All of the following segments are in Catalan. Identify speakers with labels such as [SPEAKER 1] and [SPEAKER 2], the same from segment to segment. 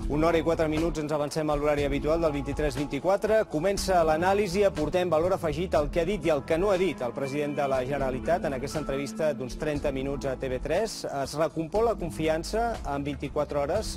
[SPEAKER 1] Una hora i 4 minuts ens avancem a l'horari habitual del 23-24. Comença l'anàlisi, aportem valor afegit al que ha dit i el que no ha dit el president de la Generalitat en aquesta entrevista d'uns 30 minuts a TV3. Es recompon la confiança en 24 hores?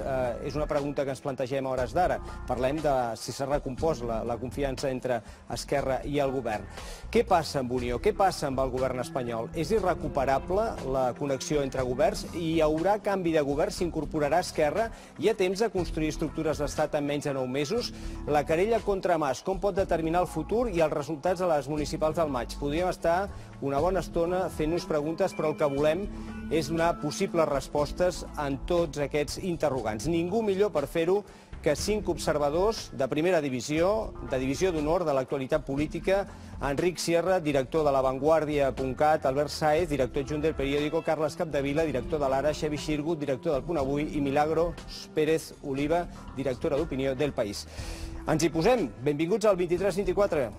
[SPEAKER 1] És una pregunta que ens plantegem a hores d'ara. Parlem de si s'ha recompost la confiança entre Esquerra i el govern. Què passa amb Unió? Què passa amb el govern espanyol? És irrecuperable la connexió entre governs? Hi haurà canvi de govern? S'incorporarà Esquerra? Hi ha temps de construir estructures d'estat en menys de 9 mesos? La querella contra Mas, com pot determinar el futur i els resultats de les municipals del maig? Podríem estar una bona estona fent-nos preguntes, però el que volem és donar possibles respostes en tots aquests interrogants. Ningú millor per fer-ho que 5 observadors de primera divisió, de divisió d'honor de l'actualitat política: Enric Sierra, director de lavanguardia.cat, Albert Sáez, director adjunt del periòdico, Carles Capdevila, director de l'Ara, Xavi Xirgut, director del Punt Avui, i Milagros Pérez Oliva, directora d'opinió del País. Ens hi posem. Benvinguts al 23-24.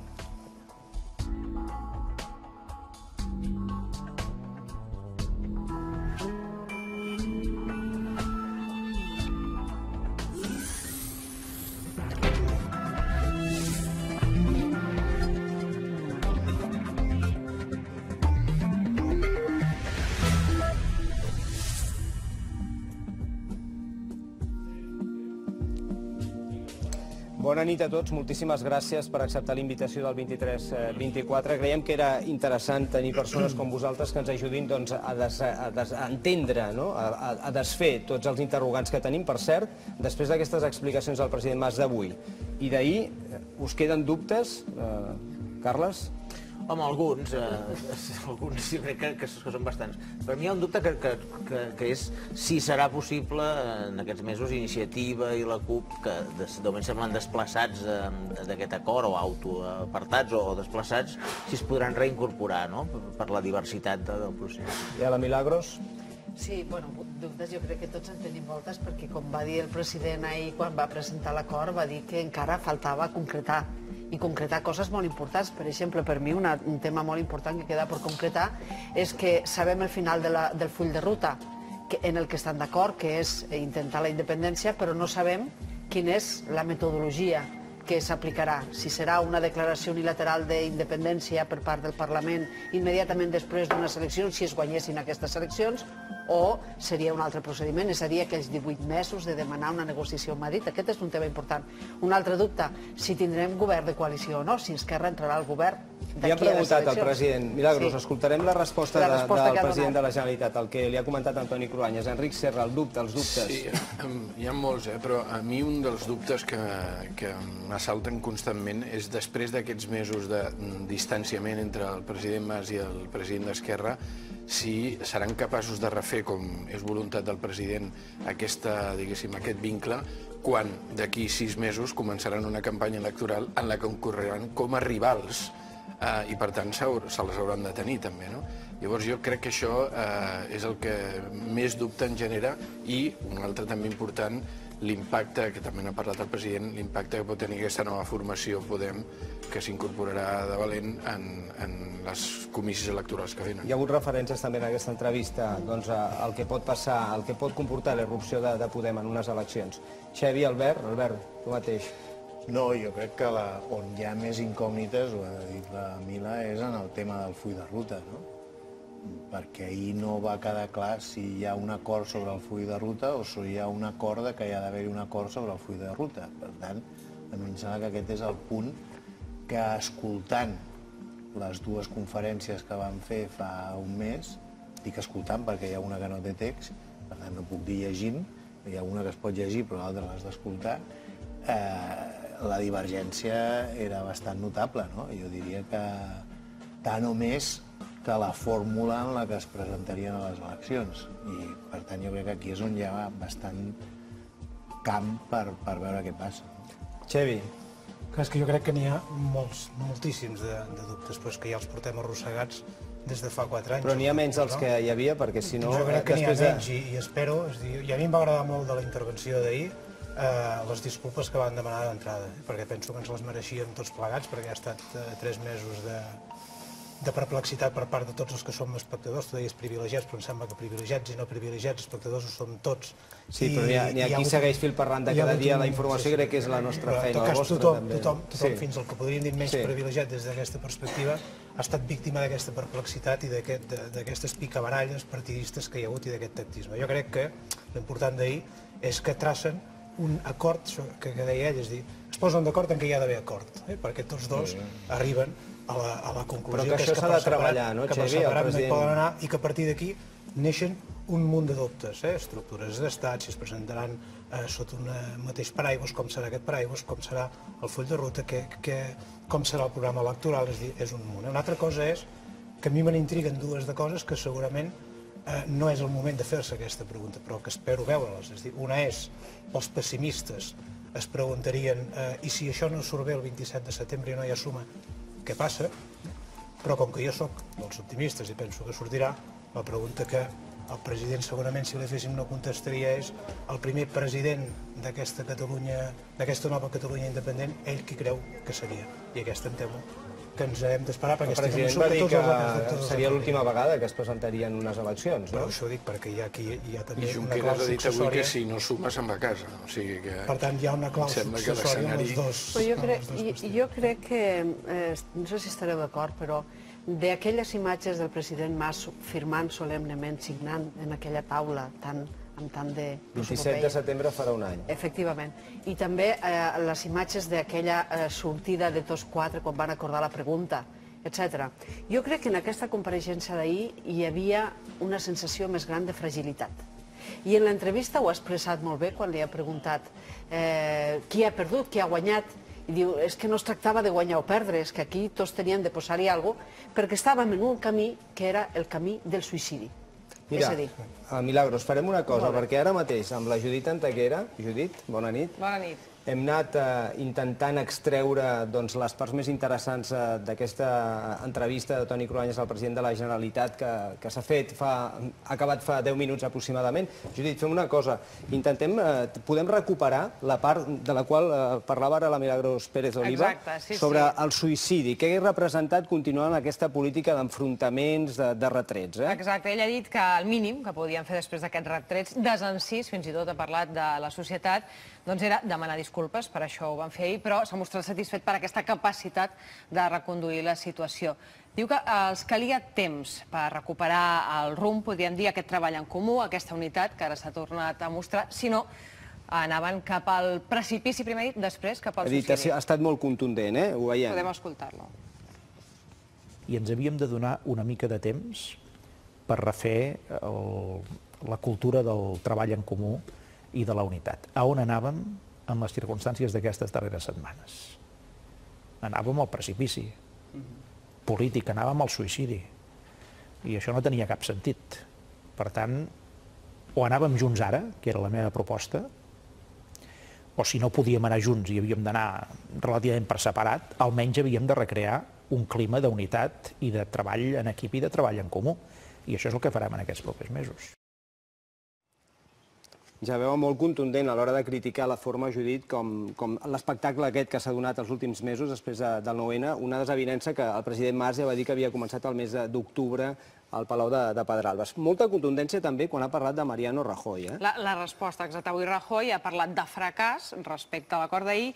[SPEAKER 1] Bona nit a tots, moltíssimes gràcies per acceptar l'invitació del 23-24. Creiem que era interessant tenir persones com vosaltres que ens ajudin a entendre, a desfer tots els interrogants que tenim. Per cert, després d'aquestes explicacions del president Mas d'avui i d'ahir, us queden dubtes, Carles?
[SPEAKER 2] Home, alguns jo crec que són bastants. Per mi hi ha un dubte que és si serà possible en aquests mesos Iniciativa i la CUP, que de moment semblen desplaçats d'aquest acord, o autoapartats o desplaçats, si es podran reincorporar per la diversitat del procés.
[SPEAKER 1] I a la Milagros?
[SPEAKER 3] Sí, bueno, dubtes jo crec que tots en tenim moltes, perquè com va dir el president ahir quan va presentar l'acord, va dir que encara faltava concretar, i concretar coses molt importants. Per exemple, per mi un tema molt important que queda per concretar és que sabem el final del full de ruta en el que estan d'acord, que és intentar la independència, però no sabem quina és la metodologia que s'aplicarà. Si serà una declaració unilateral d'independència per part del Parlament immediatament després d'unes eleccions, si es guanyessin aquestes eleccions, o seria un altre procediment, és a dir, aquells 18 mesos de demanar una negociació amb Madrid. Aquest és un tema important. Un altre dubte, si tindrem govern de coalició o no, si Esquerra entrarà al govern d'aquí a les eleccions.
[SPEAKER 1] Li ha preguntat al president. Milagros, escoltarem la resposta del president de la Generalitat, el que li ha comentat Antoni Cruanyes. Enric Serra, els dubtes.
[SPEAKER 4] Sí, hi ha molts, però a mi un dels dubtes que m'assalten constantment és, després d'aquests mesos de distanciament entre el president Mas i el president d'Esquerra, si seran capaços de refer, com és voluntat del president, aquest vincle, quan d'aquí 6 mesos començaran una campanya electoral en la que concorreran com a rivals i, per tant, se les hauran de tenir també, no? Llavors jo crec que això és el que més dubte en genera, i un altre també important, l'impacte, que també n'ha parlat el president, l'impacte que pot tenir aquesta nova formació Podem, que s'incorporarà de valent en les comicis electorals que venen.
[SPEAKER 1] Hi ha hagut referències també en aquesta entrevista al que pot passar, al que pot comportar la irrupció de Podem en unes eleccions. Xavi, Albert, tu mateix.
[SPEAKER 5] No, jo crec que on hi ha més incògnites, ho ha dit la Mila, és en el tema del full de ruta, no? Perquè ahir no va quedar clar si hi ha un acord sobre el full de ruta o si hi ha un acord que hi ha d'haver un acord sobre el full de ruta. Per tant, a mi em sembla que aquest és el punt que, escoltant les dues conferències que vam fer fa un mes, dic escoltant perquè hi ha una que no té text, per tant no puc dir llegint, hi ha una que es pot llegir però l'altra l'has d'escoltar, la divergència era bastant notable, no? Jo diria que tant o més que la fórmula en la que es presentarien a les eleccions. I, per tant, jo crec que aquí és on hi ha bastant camp per veure què passa.
[SPEAKER 1] Xavi.
[SPEAKER 6] És que jo crec que n'hi ha moltíssims de dubtes, però és que ja els portem arrossegats des de fa 4 anys.
[SPEAKER 1] Però n'hi ha menys dels que hi havia, perquè si no...
[SPEAKER 6] Jo crec que n'hi ha menys i espero... I a mi em va agradar molt de la intervenció d'ahir les disculpes que van demanar d'entrada, perquè penso que ens les mereixíem tots plegats, perquè ha estat 3 mesos de perplexitat per part de tots els que som espectadors. Tu deies privilegiats, però em sembla que privilegiats i no privilegiats, espectadors ho som tots.
[SPEAKER 1] Sí, però n'hi ha qui segueix fil per randa cada dia la informació, crec que és la nostra feina, la vostra també.
[SPEAKER 6] Tothom, fins al que podríem dir menys privilegiat des d'aquesta perspectiva, ha estat víctima d'aquesta perplexitat i d'aquestes picabaralles partidistes que hi ha hagut i d'aquest tactisme. Jo crec que l'important d'ahir és que tracen un acord, que deia ell, és dir, es posen d'acord en què hi ha d'haver acord, perquè tots dos arriben a la conclusió
[SPEAKER 1] però que això s'ha de treballar, no, Xavi, el president?
[SPEAKER 6] Poden anar i que a partir d'aquí neixen un munt de dubtes, estructures d'estat, si es presentaran sota un mateix paraigües, com serà aquest paraigües, com serà el full de ruta, com serà el programa electoral, és a dir, és un munt. Una altra cosa és que a mi me n'intriguen dues de coses que segurament no és el moment de fer-se aquesta pregunta, però que espero veure-les. És a dir, una és, els pessimistes es preguntarien i si això no surt bé el 27 de setembre i no hi ha suma, què passa? Però com que jo sóc dels optimistes i penso que sortirà, la pregunta que el president segurament, si li féssim, no contestaria és el primer president d'aquesta Catalunya, d'aquesta nova Catalunya independent, ell qui creu que seria. I aquesta em temo que ens hem d'esperar, perquè estic
[SPEAKER 1] convençut que tots els representants... Seria l'última vegada que es presentarien unes eleccions, no?
[SPEAKER 6] Però això ho dic perquè hi ha també
[SPEAKER 4] una clau successòria. I
[SPEAKER 6] Junqueras
[SPEAKER 4] ha dit avui que si no suma se'n va a casa.
[SPEAKER 6] Per tant, hi ha una clau successòria amb els dos.
[SPEAKER 3] Jo crec que, no sé si estareu d'acord, però d'aquelles imatges del president Mas firmant solemnement, signant en aquella taula amb tant de...
[SPEAKER 1] 27 de setembre farà un any.
[SPEAKER 3] Efectivament. I també les imatges d'aquella sortida de tots quatre quan van acordar la pregunta, etc. Jo crec que en aquesta compareixença d'ahir hi havia una sensació més gran de fragilitat. I en l'entrevista ho ha expressat molt bé quan li ha preguntat qui ha perdut, qui ha guanyat. I diu, és que no es tractava de guanyar o perdre, és que aquí tots tenien de posar-hi alguna cosa, perquè estàvem en un camí que era el camí del suïcidi.
[SPEAKER 1] Mira, Milagros, farem una cosa, perquè ara mateix amb la Judit Antequera, Judit, bona nit.
[SPEAKER 7] Bona nit.
[SPEAKER 1] Hem anat intentant extreure les parts més interessants d'aquesta entrevista de Toni Cruanyes al president de la Generalitat que s'ha fet, ha acabat fa 10 minuts aproximadament. Judit, fem una cosa, podem recuperar la part de la qual parlava ara la Milagros Pérez Oliva sobre el suïcidi. Què ha representat continuar en aquesta política d'enfrontaments, de retrets?
[SPEAKER 7] Exacte, ell ha dit que el mínim que podien fer després d'aquests retrets, desencís, fins i tot ha parlat de la societat, doncs era demanar disculpes, per això ho van fer ahir, però s'ha mostrat satisfet per aquesta capacitat de reconduir la situació. Diu que els calia temps per recuperar el rumb, podríem dir, aquest treball en comú, aquesta unitat que ara s'ha tornat a mostrar, si no, anaven cap al precipici, primer dit, després cap al suïcidi.
[SPEAKER 1] Ha estat molt contundent, ho veiem.
[SPEAKER 7] Podem escoltar-lo.
[SPEAKER 8] I ens havíem de donar una mica de temps per refer la cultura del treball en comú i de la unitat. A on anàvem en les circumstàncies d'aquestes darreres setmanes? Anàvem al precipici polític, anàvem al suïcidi. I això no tenia cap sentit. Per tant, o anàvem junts ara, que era la meva proposta, o si no podíem anar junts i havíem d'anar relativament per separat, almenys havíem de recrear un clima d'unitat i de treball en equip i de treball en comú. I això és el que farem en aquests propers mesos.
[SPEAKER 1] Ja veu molt contundent a l'hora de criticar la forma, Judit, com l'espectacle aquest que s'ha donat els últims mesos després del 9-N, una desavinença que el president Mas ja va dir que havia començat el mes d'octubre al Palau de Pedralbes. Molta contundència també quan ha parlat de Mariano Rajoy.
[SPEAKER 7] La resposta exacta. Avui Rajoy ha parlat de fracàs respecte a l'acord d'ahir.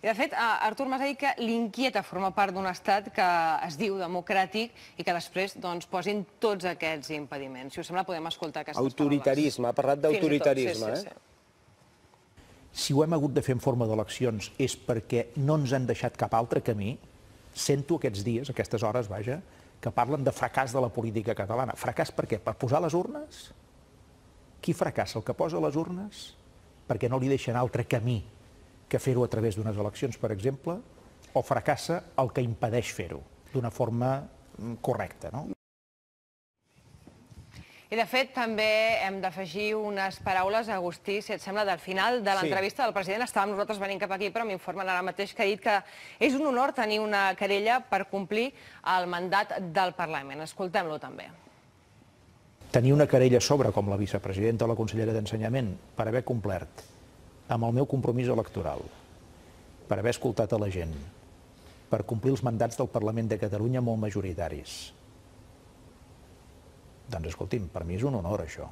[SPEAKER 7] I, de fet, Artur Mas ha dit que l'inquieta formar part d'un estat que es diu democràtic i que després posin tots aquests impediments. Si us sembla, podem escoltar aquestes paraules.
[SPEAKER 1] Autoritarisme, ha parlat d'autoritarisme.
[SPEAKER 8] Si ho hem hagut de fer en forma d'eleccions és perquè no ens han deixat cap altre camí, sento aquests dies, aquestes hores, vaja, que parlen de fracàs de la política catalana. Fracàs per què? Per posar les urnes? Qui fracassa? El que posa les urnes? Perquè no li deixen altre camí que fer-ho a través d'unes eleccions, per exemple, o fracassa el que impedeix fer-ho d'una forma correcta, no?
[SPEAKER 7] I, de fet, també hem d'afegir unes paraules, Agustí, si et sembla, del final de l'entrevista del president. Estàvem nosaltres venint cap aquí, però m'informen ara mateix que ha dit que és un honor tenir una querella per complir el mandat del Parlament. Escoltem-lo també.
[SPEAKER 8] Tenir una querella sobre, com la vicepresidenta o la consellera d'Ensenyament, per haver complert amb el meu compromís electoral, per haver escoltat a la gent, per complir els mandats del Parlament de Catalunya molt majoritaris. Doncs escolti'm, per mi és un honor això.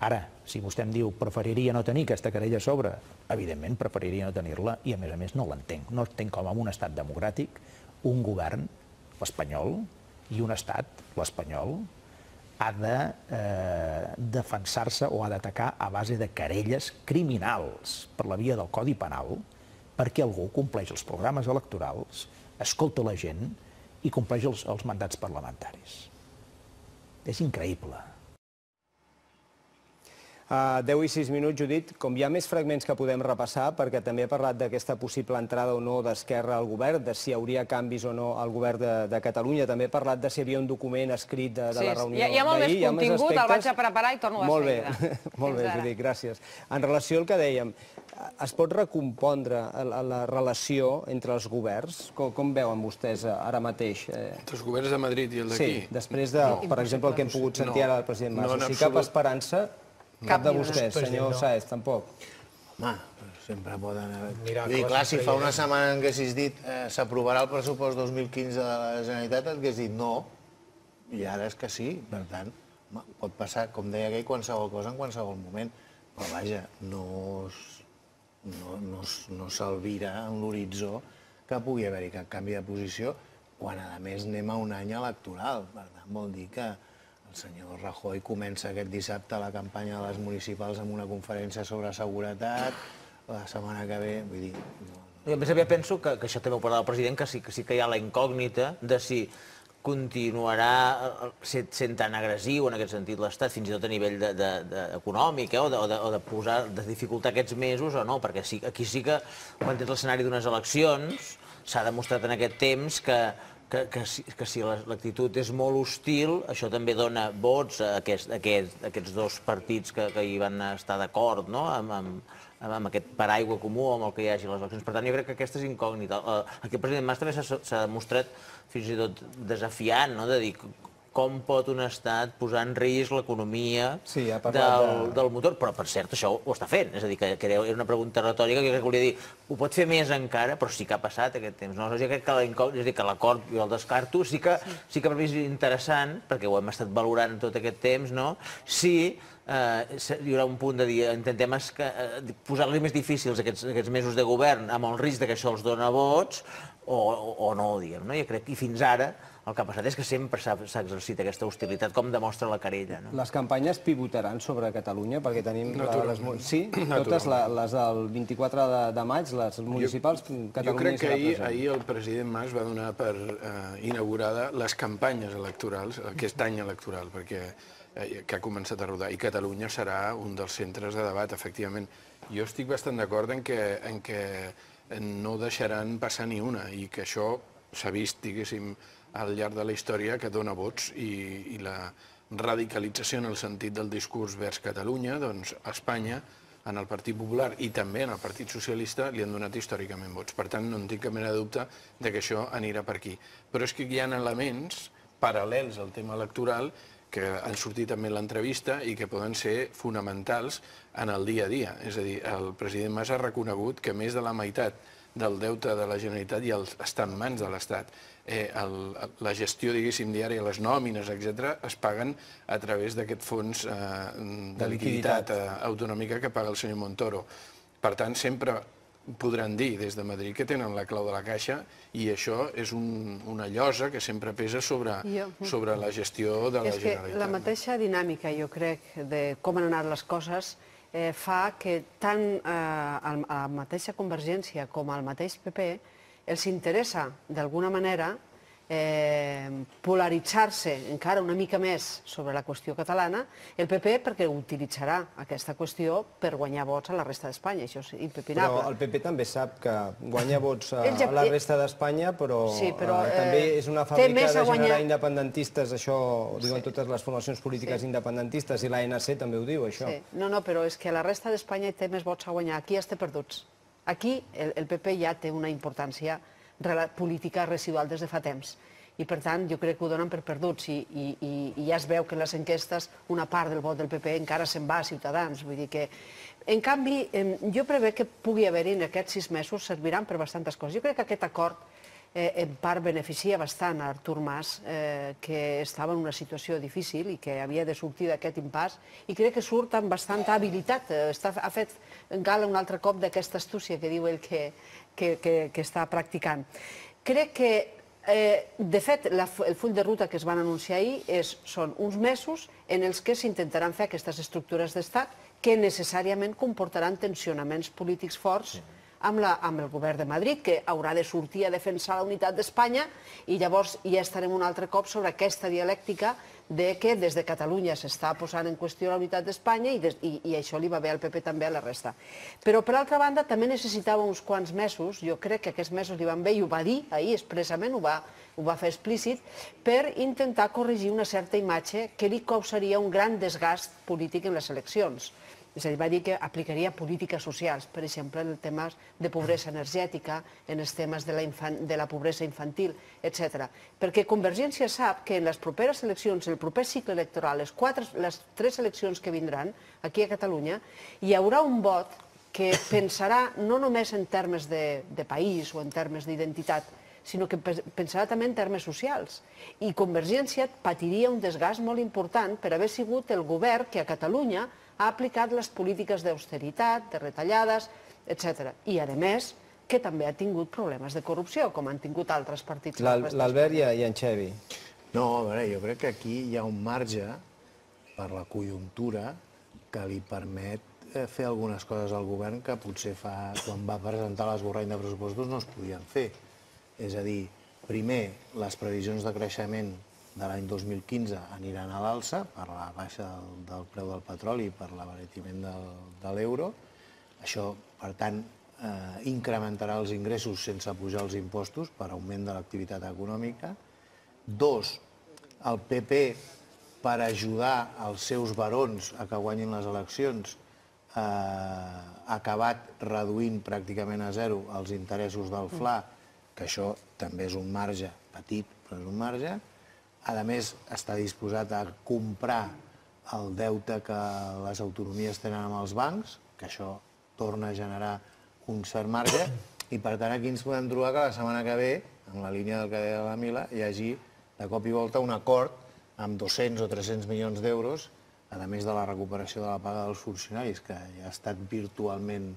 [SPEAKER 8] Ara, si vostè em diu preferiria no tenir aquesta querella a sobre, evidentment preferiria no tenir-la i a més no l'entenc. No entenc com en un estat democràtic un govern, l'espanyol, i un estat, l'espanyol, ha de defensar-se o ha d'atacar a base de querelles criminals per la via del Codi Penal perquè algú compleix els programes electorals, escolta la gent i compleix els mandats parlamentaris. És increïble.
[SPEAKER 1] 10 i 6 minuts, Judit. Com hi ha més fragments que podem repassar, perquè també ha parlat d'aquesta possible entrada o no d'Esquerra al govern, de si hi hauria canvis o no al govern de Catalunya. També ha parlat de si hi havia un document escrit de la reunió d'ahir.
[SPEAKER 7] Hi ha molt més contingut, el vaig a preparar i torno a seguida.
[SPEAKER 1] Molt bé, Judit, gràcies. En relació al que dèiem, es pot recompondre la relació entre els governs? Com veuen vostès ara mateix?
[SPEAKER 4] Entre els governs de Madrid i el d'aquí?
[SPEAKER 1] Sí, després de, per exemple, el que hem pogut sentir ara del president Mas. O sigui, cap esperança? Cap de vostès, senyor Sáez, tampoc.
[SPEAKER 5] Home, sempre poden haver... Clar, si fa una setmana en què haguessis dit s'aprovarà el pressupost 2015 de la Generalitat, et hagués dit no, i ara és que sí. Per tant, pot passar, com deia aquell, qualsevol cosa en qualsevol moment. Però vaja, no s'alvira en l'horitzó que pugui haver-hi cap canvi de posició quan, a més, anem a un any electoral. Per tant, vol dir que el senyor Rajoy comença aquest dissabte la campanya de les municipals amb una conferència sobre seguretat, la setmana que ve, vull dir...
[SPEAKER 2] A més, penso que això també ho parlava el president, que sí que hi ha la incògnita de si continuarà sent tan agressiu en aquest sentit l'Estat, fins i tot a nivell econòmic, o de dificultar aquests mesos o no, perquè aquí sí que, quan tens l'escenari d'unes eleccions, s'ha demostrat en aquest temps que si l'actitud és molt hostil, això també dona vots a aquests dos partits que hi van estar d'acord, amb aquest paraigua comú amb el que hi hagi a les eleccions. Per tant, jo crec que aquesta és incògnita. Aquí el president Mas també s'ha demostrat fins i tot desafiant, de dir com pot un estat posar en risc l'economia del motor. Però, per cert, això ho està fent. És a dir, que era una pregunta retòrica que jo crec que volia dir, ho pot fer més encara, però sí que ha passat aquest temps. Jo crec que l'acord, jo el descarto, sí que per mi és interessant, perquè ho hem estat valorant tot aquest temps, si hi haurà un punt de dir, intentem posar-li més difícils aquests mesos de govern amb el risc que això els dona vots o no, diguem. Jo crec que fins ara el que ha passat és que sempre s'ha exercit aquesta hostilitat, com demostra la querella.
[SPEAKER 1] Les campanyes pivotaran sobre Catalunya, perquè tenim... Sí? Totes les del 24 de maig, les municipals, Catalunya...
[SPEAKER 4] Jo crec que ahir el president Mas va donar per inaugurada les campanyes electorals, aquest any electoral, perquè que ha començat a rodar, i Catalunya serà un dels centres de debat, efectivament. Jo estic bastant d'acord en que no deixaran passar ni una, i que això s'ha vist, diguéssim, al llarg de la història, que dona vots, i la radicalització en el sentit del discurs vers Catalunya, doncs a Espanya, en el Partit Popular i també en el Partit Socialista, li han donat històricament vots. Per tant, no en tinc cap mena de dubte que això anirà per aquí. Però és que hi ha elements paral·lels al tema electoral que han sortit també en l'entrevista i que poden ser fonamentals en el dia a dia. És a dir, el president Mas ha reconegut que més de la meitat del deute de la Generalitat ja està en mans de l'Estat. La gestió, diguéssim, diària, les nòmines, etc., es paguen a través d'aquest fons de liquiditat autonòmica que paga el senyor Montoro. Per tant, sempre podran dir des de Madrid que tenen la clau de la caixa, i això és una llosa que sempre pesa sobre la gestió de la Generalitat.
[SPEAKER 3] És que la mateixa dinàmica, jo crec, de com han anat les coses, fa que tant a la mateixa Convergència com al mateix PP els interessa, d'alguna manera, polaritzar-se encara una mica més sobre la qüestió catalana, el PP perquè utilitzarà aquesta qüestió per guanyar vots a la resta d'Espanya, això és impepinable.
[SPEAKER 1] Però el PP també sap que guanya vots a la resta d'Espanya, però també és una fàbrica de generar independentistes, això ho diuen totes les formacions polítiques independentistes, i l'ANC també ho diu, això.
[SPEAKER 3] No, però és que a la resta d'Espanya té més vots a guanyar, aquí ja té perduts. Aquí el PP ja té una importància política residual des de fa temps. I, per tant, jo crec que ho donen per perduts i ja es veu que en les enquestes una part del vot del PP encara se'n va a Ciutadans. Vull dir que, en canvi, jo prevec que pugui haver-hi en aquests 6 mesos serviran per bastantes coses. Jo crec que aquest acord en part beneficia bastant a Artur Mas, que estava en una situació difícil i que havia de sortir d'aquest impàs, i crec que surt amb bastanta habilitat. Ha fet gala un altre cop d'aquesta astúcia que diu ell que està practicant. Crec que, de fet, el full de ruta que es van anunciar ahir són uns mesos en els que s'intentaran fer aquestes estructures d'estat que necessàriament comportaran tensionaments polítics forts amb el govern de Madrid, que haurà de sortir a defensar la unitat d'Espanya, i llavors ja estarem un altre cop sobre aquesta dialèctica de que des de Catalunya s'està posant en qüestió la unitat d'Espanya i això li va bé al PP també a la resta. Però, per altra banda, també necessitava uns quants mesos, jo crec que aquests mesos li van bé, i ho va dir ahir expressament, ho va fer explícit, per intentar corregir una certa imatge que li causaria un gran desgast polític en les eleccions. És a dir, va dir que aplicaria polítiques socials, per exemple, en temes de pobresa energètica, en els temes de la pobresa infantil, etc. Perquè Convergència sap que en les properes eleccions, el proper cicle electoral, les 3 eleccions que vindran aquí a Catalunya, hi haurà un vot que pensarà no només en termes de país o en termes d'identitat, sinó que pensarà també en termes socials. I Convergència patiria un desgast molt important per haver sigut el govern que a Catalunya ha aplicat les polítiques d'austeritat, de retallades, etc. I, a més, que també ha tingut problemes de corrupció, com han tingut altres partits.
[SPEAKER 1] L'Albert i en Xevi.
[SPEAKER 5] No, a veure, jo crec que aquí hi ha un marge per la conjuntura que li permet fer algunes coses al govern que potser quan va presentar l'esborrany de pressupostos no es podien fer. És a dir, primer, les previsions de creixement de l'any 2015 aniran a l'alça per la baixa del preu del petroli i per l'abaratiment de l'euro. Això, per tant, incrementarà els ingressos sense pujar els impostos per augment de l'activitat econòmica. 2, el PP, per ajudar els seus barons a que guanyin les eleccions, ha acabat reduint pràcticament a zero els interessos del FLA, que això també és un marge petit, però és un marge. A més, està disposat a comprar el deute que les autonomies tenen amb els bancs, que això torna a generar un cert marge, i per tant aquí ens podem trobar que la setmana que ve, en la línia del que deia la Mila, hi hagi de cop i volta un acord amb 200 o 300 milions d'euros, a més de la recuperació de la paga dels funcionaris, que ja ha estat virtualment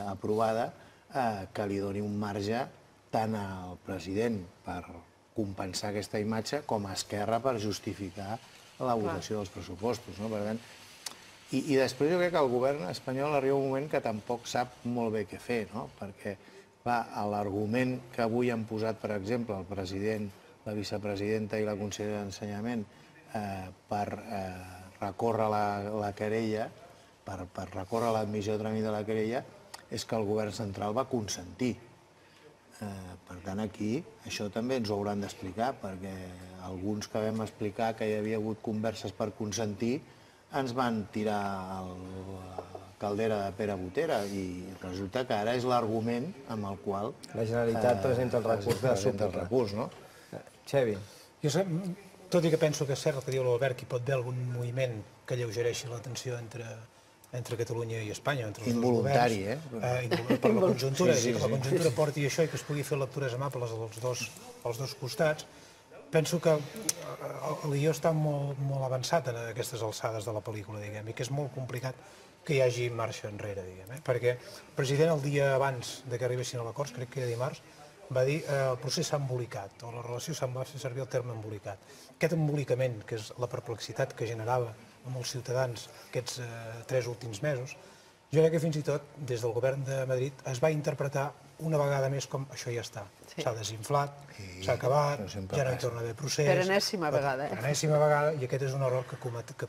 [SPEAKER 5] aprovada, que li doni un marge tant al president per compensar aquesta imatge com a Esquerra per justificar la votació dels pressupostos. I després jo crec que el govern espanyol arriba un moment que tampoc sap molt bé què fer, perquè l'argument que avui han posat, per exemple, el president, la vicepresidenta i la consellera d'Ensenyament per recórrer la querella, per recórrer l'admissió a tràmit de la querella, és que el govern central va consentir. Per tant, aquí això també ens ho hauran d'explicar, perquè alguns que vam explicar que hi havia hagut converses per consentir ens van tirar a la caldera de Pere Botera i resulta que ara és l'argument amb el qual
[SPEAKER 1] la Generalitat presenta el recurs. Xevi.
[SPEAKER 6] Jo, tot i que penso que és cert el que diu l'Albert, que hi pot haver algun moviment que alleugereixi la tensió entre Catalunya i Espanya, entre els dos governs. Involuntari, per la conjuntura, que la conjuntura porti això i que es pugui fer lectures amables als dos costats. Penso que el guió està molt avançat en aquestes alçades de la pel·lícula, diguem, i que és molt complicat que hi hagi marxa enrere, diguem, perquè el president el dia abans que arribessin a l'acord, crec que era dimarts, va dir el procés s'ha embolicat, o la relació va fer servir el terme embolicat. Aquest embolicament, que és la perplexitat que generava amb els ciutadans aquests 3 últims mesos, jo crec que fins i tot des del govern de Madrid es va interpretar una vegada més com això ja està. S'ha desinflat, s'ha acabat, ja no hi torna a haver procés.
[SPEAKER 3] Per enèsima vegada.
[SPEAKER 6] Per enèsima vegada, i aquest és un error que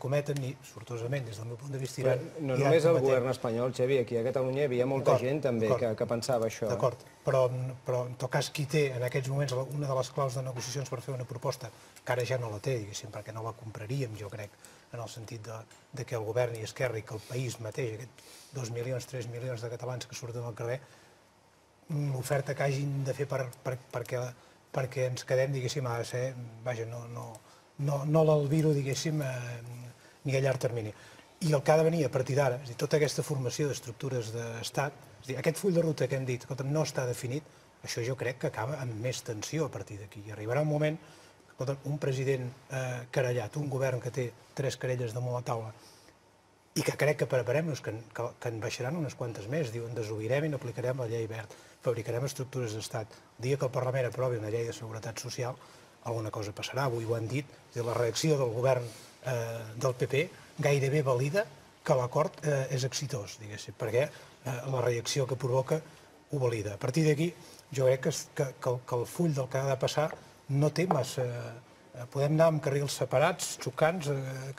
[SPEAKER 6] cometen, i sortosament, des del meu punt de vista...
[SPEAKER 1] No només el govern espanyol, Xavi, aquí a Catalunya hi havia molta gent també que pensava això.
[SPEAKER 6] D'acord, però en tot cas qui té en aquests moments una de les claus de negociacions per fer una proposta, que ara ja no la té, diguéssim, perquè no la compraríem, jo crec, en el sentit que el govern i Esquerra i que el país mateix, aquests 2 milions, 3 milions de catalans que surten al carrer, l'oferta que hagin de fer perquè ens quedem, diguéssim, ha de ser, vaja, no l'albiro, diguéssim, ni a llarg termini. I el que ha de venir a partir d'ara, és a dir, tota aquesta formació d'estructures d'estat, és a dir, aquest full de ruta que hem dit, no està definit, això jo crec que acaba amb més tensió a partir d'aquí. Arribarà un moment, un president querellat, un govern que té 3 querelles damunt la taula, i que crec que preparem-nos, que en baixaran unes quantes més. Diuen, desobirem i no aplicarem la llei Wert, fabricarem estructures d'estat. El dia que el Parlament aprovi una llei de seguretat social, alguna cosa passarà, avui ho han dit, la reacció del govern del PP gairebé valida que l'acord és exitós, diguéssim, perquè la reacció que provoca ho valida. A partir d'aquí, jo crec que el full del que ha de passar no té massa... Podem anar amb carrils separats, xocants,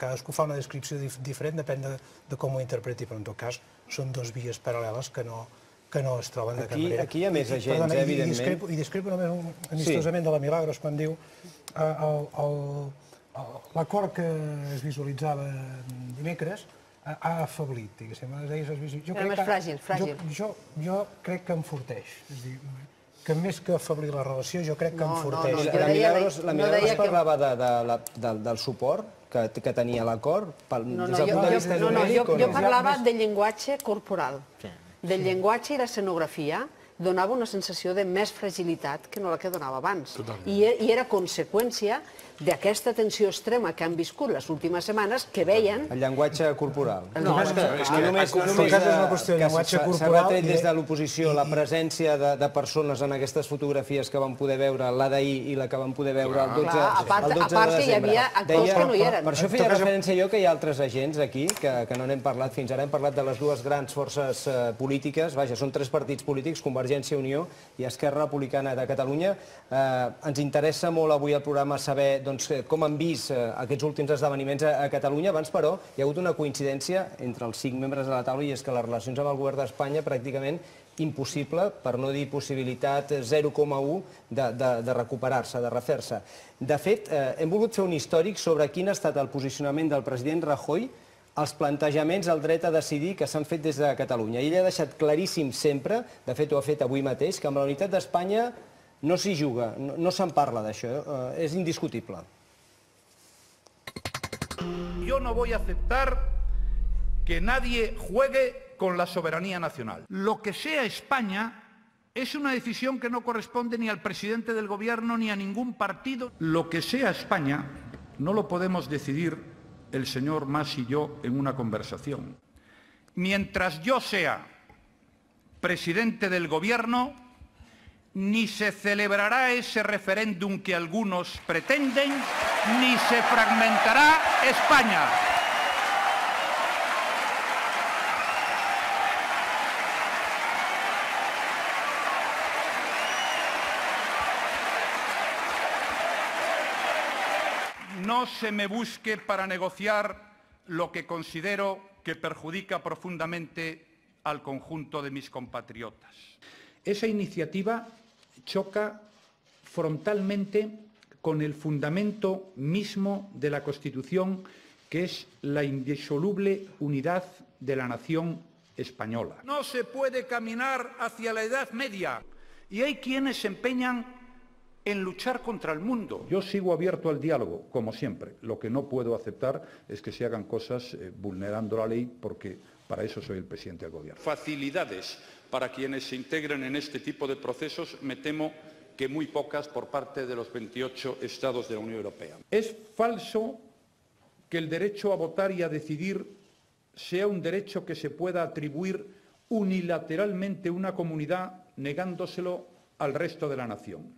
[SPEAKER 6] cadascú fa una descripció diferent, depèn de com ho interpreti, però en tot cas són 2 vies paral·leles que no es troben de cap manera.
[SPEAKER 1] Aquí hi ha més agents, evidentment.
[SPEAKER 6] I discrepo només amistosament de la Milagros quan diu l'acord que es visualitzava dimecres ha afeblit, diguéssim.
[SPEAKER 3] Era més fràgil.
[SPEAKER 6] Jo crec que enforteix. És a dir, que més que afeblir la relació, jo crec que enforteix.
[SPEAKER 1] La Milagros parlava del suport que tenia l'acord des del punt de vista numèric?
[SPEAKER 3] Jo parlava del llenguatge corporal, del llenguatge i l'escenografia. Donava una sensació de més fragilitat que no la que donava abans. I era conseqüència d'aquesta tensió extrema que han viscut les últimes setmanes, que veien...
[SPEAKER 1] El llenguatge corporal.
[SPEAKER 3] No
[SPEAKER 1] només que s'ha retret des de l'oposició la presència de persones en aquestes fotografies que vam poder veure la d'ahir i la que vam poder veure el 12 de desembre.
[SPEAKER 3] A part que hi havia actors que no hi eren.
[SPEAKER 1] Per això feia referència jo que hi ha altres agents aquí, que no n'hem parlat fins ara. Hem parlat de les 2 grans forces polítiques. Vaja, són 3 partits polítics, Convergència i Unió i Esquerra Republicana de Catalunya. Ens interessa molt avui al programa saber com han vist aquests últims esdeveniments a Catalunya. Abans, però, hi ha hagut una coincidència entre els 5 membres de la taula i és que les relacions amb el govern d'Espanya pràcticament impossible, per no dir possibilitat 0,1 de recuperar-se, de refer-se. De fet, hem volgut fer un històric sobre quin ha estat el posicionament del president Rajoy els plantejaments al dret a decidir que s'han fet des de Catalunya. Ell ha deixat claríssim sempre, de fet ho ha fet avui mateix, que amb la unitat d'Espanya no s'hi juga, no se'n parla d'això, és indiscutible.
[SPEAKER 9] Yo no voy a aceptar que nadie juegue con la soberanía nacional. Lo que sea España es una decisión que no corresponde ni al presidente del gobierno ni a ningún partido. Lo que sea España no lo podemos decidir el señor Mas y yo en una conversación. Mientras yo sea presidente del gobierno, ni se celebrará ese referéndum que algunos pretenden, ni se fragmentará España. No se me busque para negociar lo que considero que perjudica profundamente al conjunto de mis compatriotas. Esa iniciativa choca frontalmente con el fundamento mismo de la Constitución, que es la indisoluble unidad de la nación española. No se puede caminar hacia la Edad Media y hay quienes se empeñan en luchar contra el mundo. Yo sigo abierto al diálogo, como siempre. Lo que no puedo aceptar es que se hagan cosas vulnerando la ley, porque para eso soy el presidente del gobierno. Facilidades para quienes se integren en este tipo de procesos, me temo que muy pocas por parte de los 28 Estados de la Unión Europea. Es falso que el derecho a votar y a decidir sea un derecho que se pueda atribuir unilateralmente a una comunidad negándoselo al resto de la nación.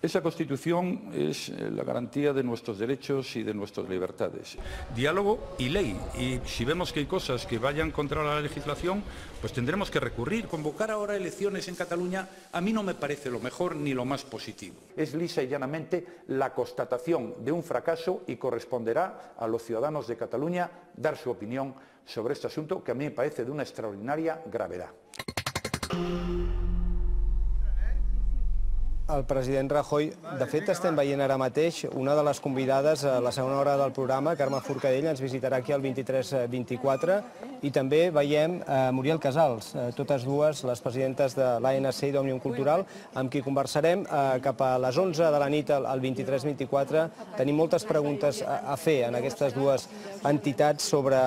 [SPEAKER 9] Esa Constitución es la garantía de nuestros derechos y de nuestras libertades. Diálogo y ley. Y si vemos que hay cosas que vayan contra la legislación, pues tendremos que recurrir. Convocar ahora elecciones en Cataluña a mí no me parece lo mejor ni lo más positivo. Es lisa y llanamente la constatación de un fracaso y corresponderá a los ciudadanos de Cataluña dar su opinión sobre este asunto, que a mí me parece de una extraordinaria gravedad.
[SPEAKER 1] el president Rajoy. De fet, estem veient ara mateix una de les convidades a la segona hora del programa, Carme Forcadell, ens visitarà aquí al 23-24, i també veiem Muriel Casals, totes dues les presidentes de l'ANC i d'Òmnium Cultural, amb qui conversarem cap a les 11 de la nit al 23-24. Tenim moltes preguntes a fer en aquestes dues entitats sobre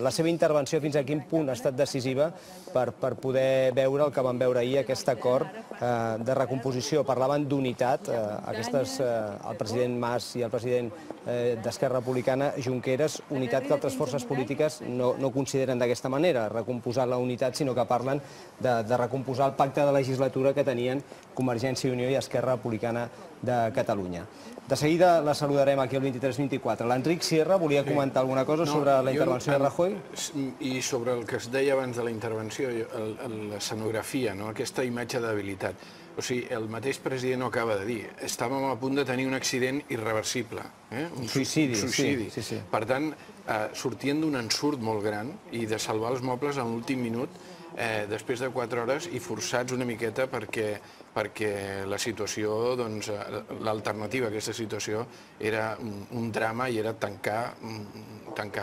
[SPEAKER 1] la seva intervenció, fins a quin punt ha estat decisiva per poder veure el que vam veure ahir, aquest acord de recomposició. Parlaven d'unitat, el president Mas i el president d'Esquerra Republicana, Junqueras, unitat que altres forces polítiques no consideren d'aquesta manera, recomposar la unitat, sinó que parlen de recomposar el pacte de legislatura que tenien Convergència i Unió i Esquerra Republicana de Catalunya. De seguida la saludarem aquí al 23-24. L'Enric Sierra volia comentar alguna cosa sobre la intervenció de Rajoy?
[SPEAKER 4] I sobre el que es deia abans de la intervenció, l'escenografia, aquesta imatge de debilitat. O sigui, el mateix president ho acaba de dir. Estàvem a punt de tenir un accident irreversible.
[SPEAKER 1] Un suïcidi.
[SPEAKER 4] Per tant, sortien d'un ensurt molt gran i de salvar els mobles en l'últim minut, després de 4 hores, i forçats una miqueta perquè la situació, l'alternativa a aquesta situació era un drama i era tancar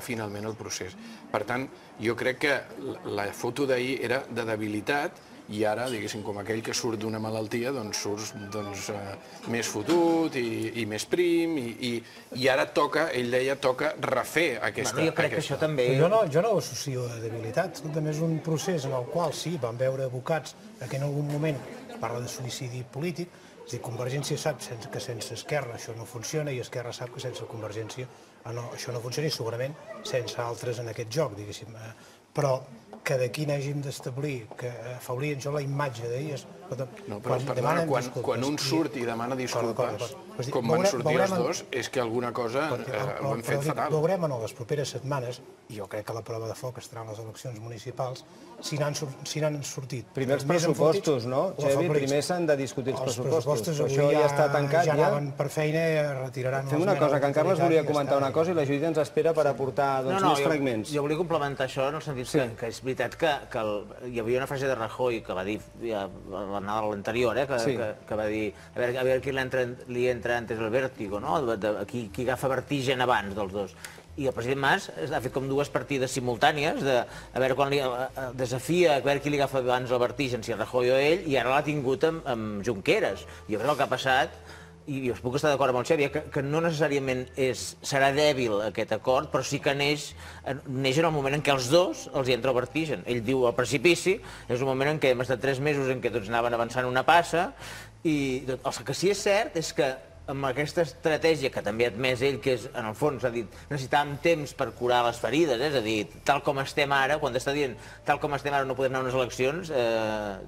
[SPEAKER 4] finalment el procés. Per tant, jo crec que la foto d'ahir era de debilitat, i ara, diguéssim, com aquell que surt d'una malaltia, doncs surts més fotut i més prim, i ara toca, ell deia, toca refer aquesta...
[SPEAKER 2] Jo crec que això també...
[SPEAKER 6] Jo no ho associo a debilitat, també és un procés en el qual sí, van veure abocats que en algun moment parla de suïcidi polític, és a dir, Convergència sap que sense Esquerra això no funciona i Esquerra sap que sense Convergència això no funciona i segurament sense altres en aquest joc, diguéssim. Però que d'aquí n'hàgim d'establir, que afavorien jo la imatge d'ahir...
[SPEAKER 4] No, però perdona, quan un surt i demana disculpes, com van sortir els dos, és que alguna cosa ho han fet fatal.
[SPEAKER 6] Veurem en les properes setmanes, i jo crec que la prova de foc estarà en les eleccions municipals, si n'han sortit.
[SPEAKER 1] Primer els pressupostos, no, Xevi? Primer s'han de discutir els pressupostos. Això ja està tancat.
[SPEAKER 6] Ja anaven per feina i retiraran...
[SPEAKER 1] Fem una cosa, que en Carles volia comentar una cosa i la Judit ens espera per aportar més fragments.
[SPEAKER 2] Jo volia complementar això en el sentit que és veritat que hi havia una frase de Rajoy que va dir l'anterior, que va dir a veure qui li entra antes el vértigo, qui agafa vertigen abans dels dos. I el president Mas ha fet com dues partides simultànies, a veure quan li desafia, a veure qui li agafa abans el vertigen, si Rajoy o ell, i ara l'ha tingut amb Junqueras. Jo crec que el que ha passat, i us puc estar d'acord amb el Xavi, que no necessàriament serà dèbil aquest acord, però sí que neix en el moment en què els dos els entra el vertigen. Ell diu el precipici, és un moment en què hem estat 3 mesos en què tots anaven avançant una passa, i el que sí és cert és que amb aquesta estratègia que també ha admès ell, que és, en el fons, ha dit, necessitàvem temps per curar les ferides, és a dir, tal com estem ara, quan està dient tal com estem ara no podem anar a unes eleccions,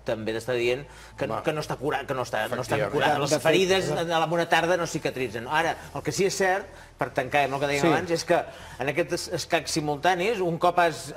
[SPEAKER 2] també està dient que no està curat, que no estan curades. Les ferides a la bona tarda no cicatritzen. Ara, el que sí és cert, per tancar amb el que dèiem abans, és que en aquests escacs simultanis, un cop has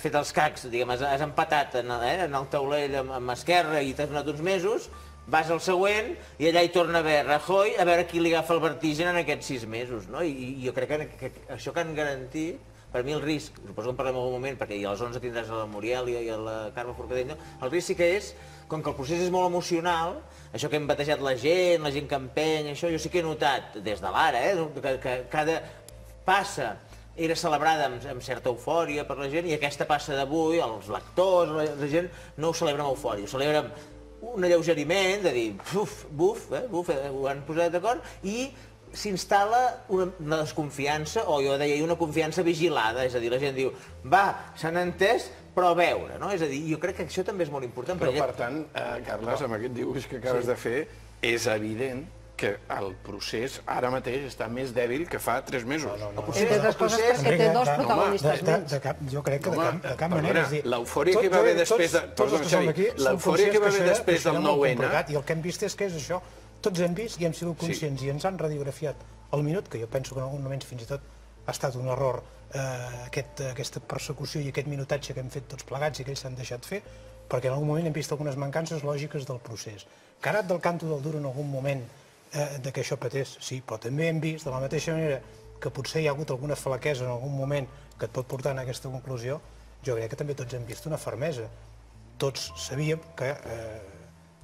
[SPEAKER 2] fet els cacs, diguem, has empatat en el taulell amb Esquerra i t'has donat uns mesos, vas al següent i allà hi torna a haver Rajoy, a veure qui li agafa el vertigen en aquests 6 mesos. I jo crec que això que han garantit, per mi el risc, suposo que en parlem en algun moment, perquè a les 11 tindràs a la Muriel i a la Carme Forcadell, el risc sí que és, com que el procés és molt emocional, això que hem batejat la gent que empeny, això jo sí que he notat des de l'ara, que cada passa era celebrada amb certa eufòria per la gent, i aquesta passa d'avui, els lectors, la gent no ho celebra amb eufòria, ho celebra amb un alleugeriment, de dir, buf, ho han posat d'acord, i s'instal·la una desconfiança, o jo deia, una confiança vigilada, és a dir, la gent diu, va, s'han entès, però a veure, no? És a dir, jo crec que això també és molt important.
[SPEAKER 4] Però, per tant, Carles, amb aquest dibuix que acabes de fer, és evident que el procés ara mateix està més dèbil que fa 3 mesos.
[SPEAKER 3] Entre altres coses perquè té 2 protagonistes menys.
[SPEAKER 6] Jo crec que de cap manera.
[SPEAKER 4] L'eufòria que hi va haver després del 9-N...
[SPEAKER 6] I el que hem vist és que és això. Tots hem vist i hem sigut conscients i ens han radiografiat el minut, que jo penso que en algun moment fins i tot ha estat un error aquesta persecució i aquest minutatge que hem fet tots plegats i que ells s'han deixat fer, perquè en algun moment hem vist algunes mancances lògiques del procés. Que ha anat del canto del duro en algun moment de que això patés, sí, però també hem vist, de la mateixa manera que potser hi ha hagut alguna flaquesa en algun moment que et pot portar a aquesta conclusió, jo crec que també tots hem vist una fermesa. Tots sabíem que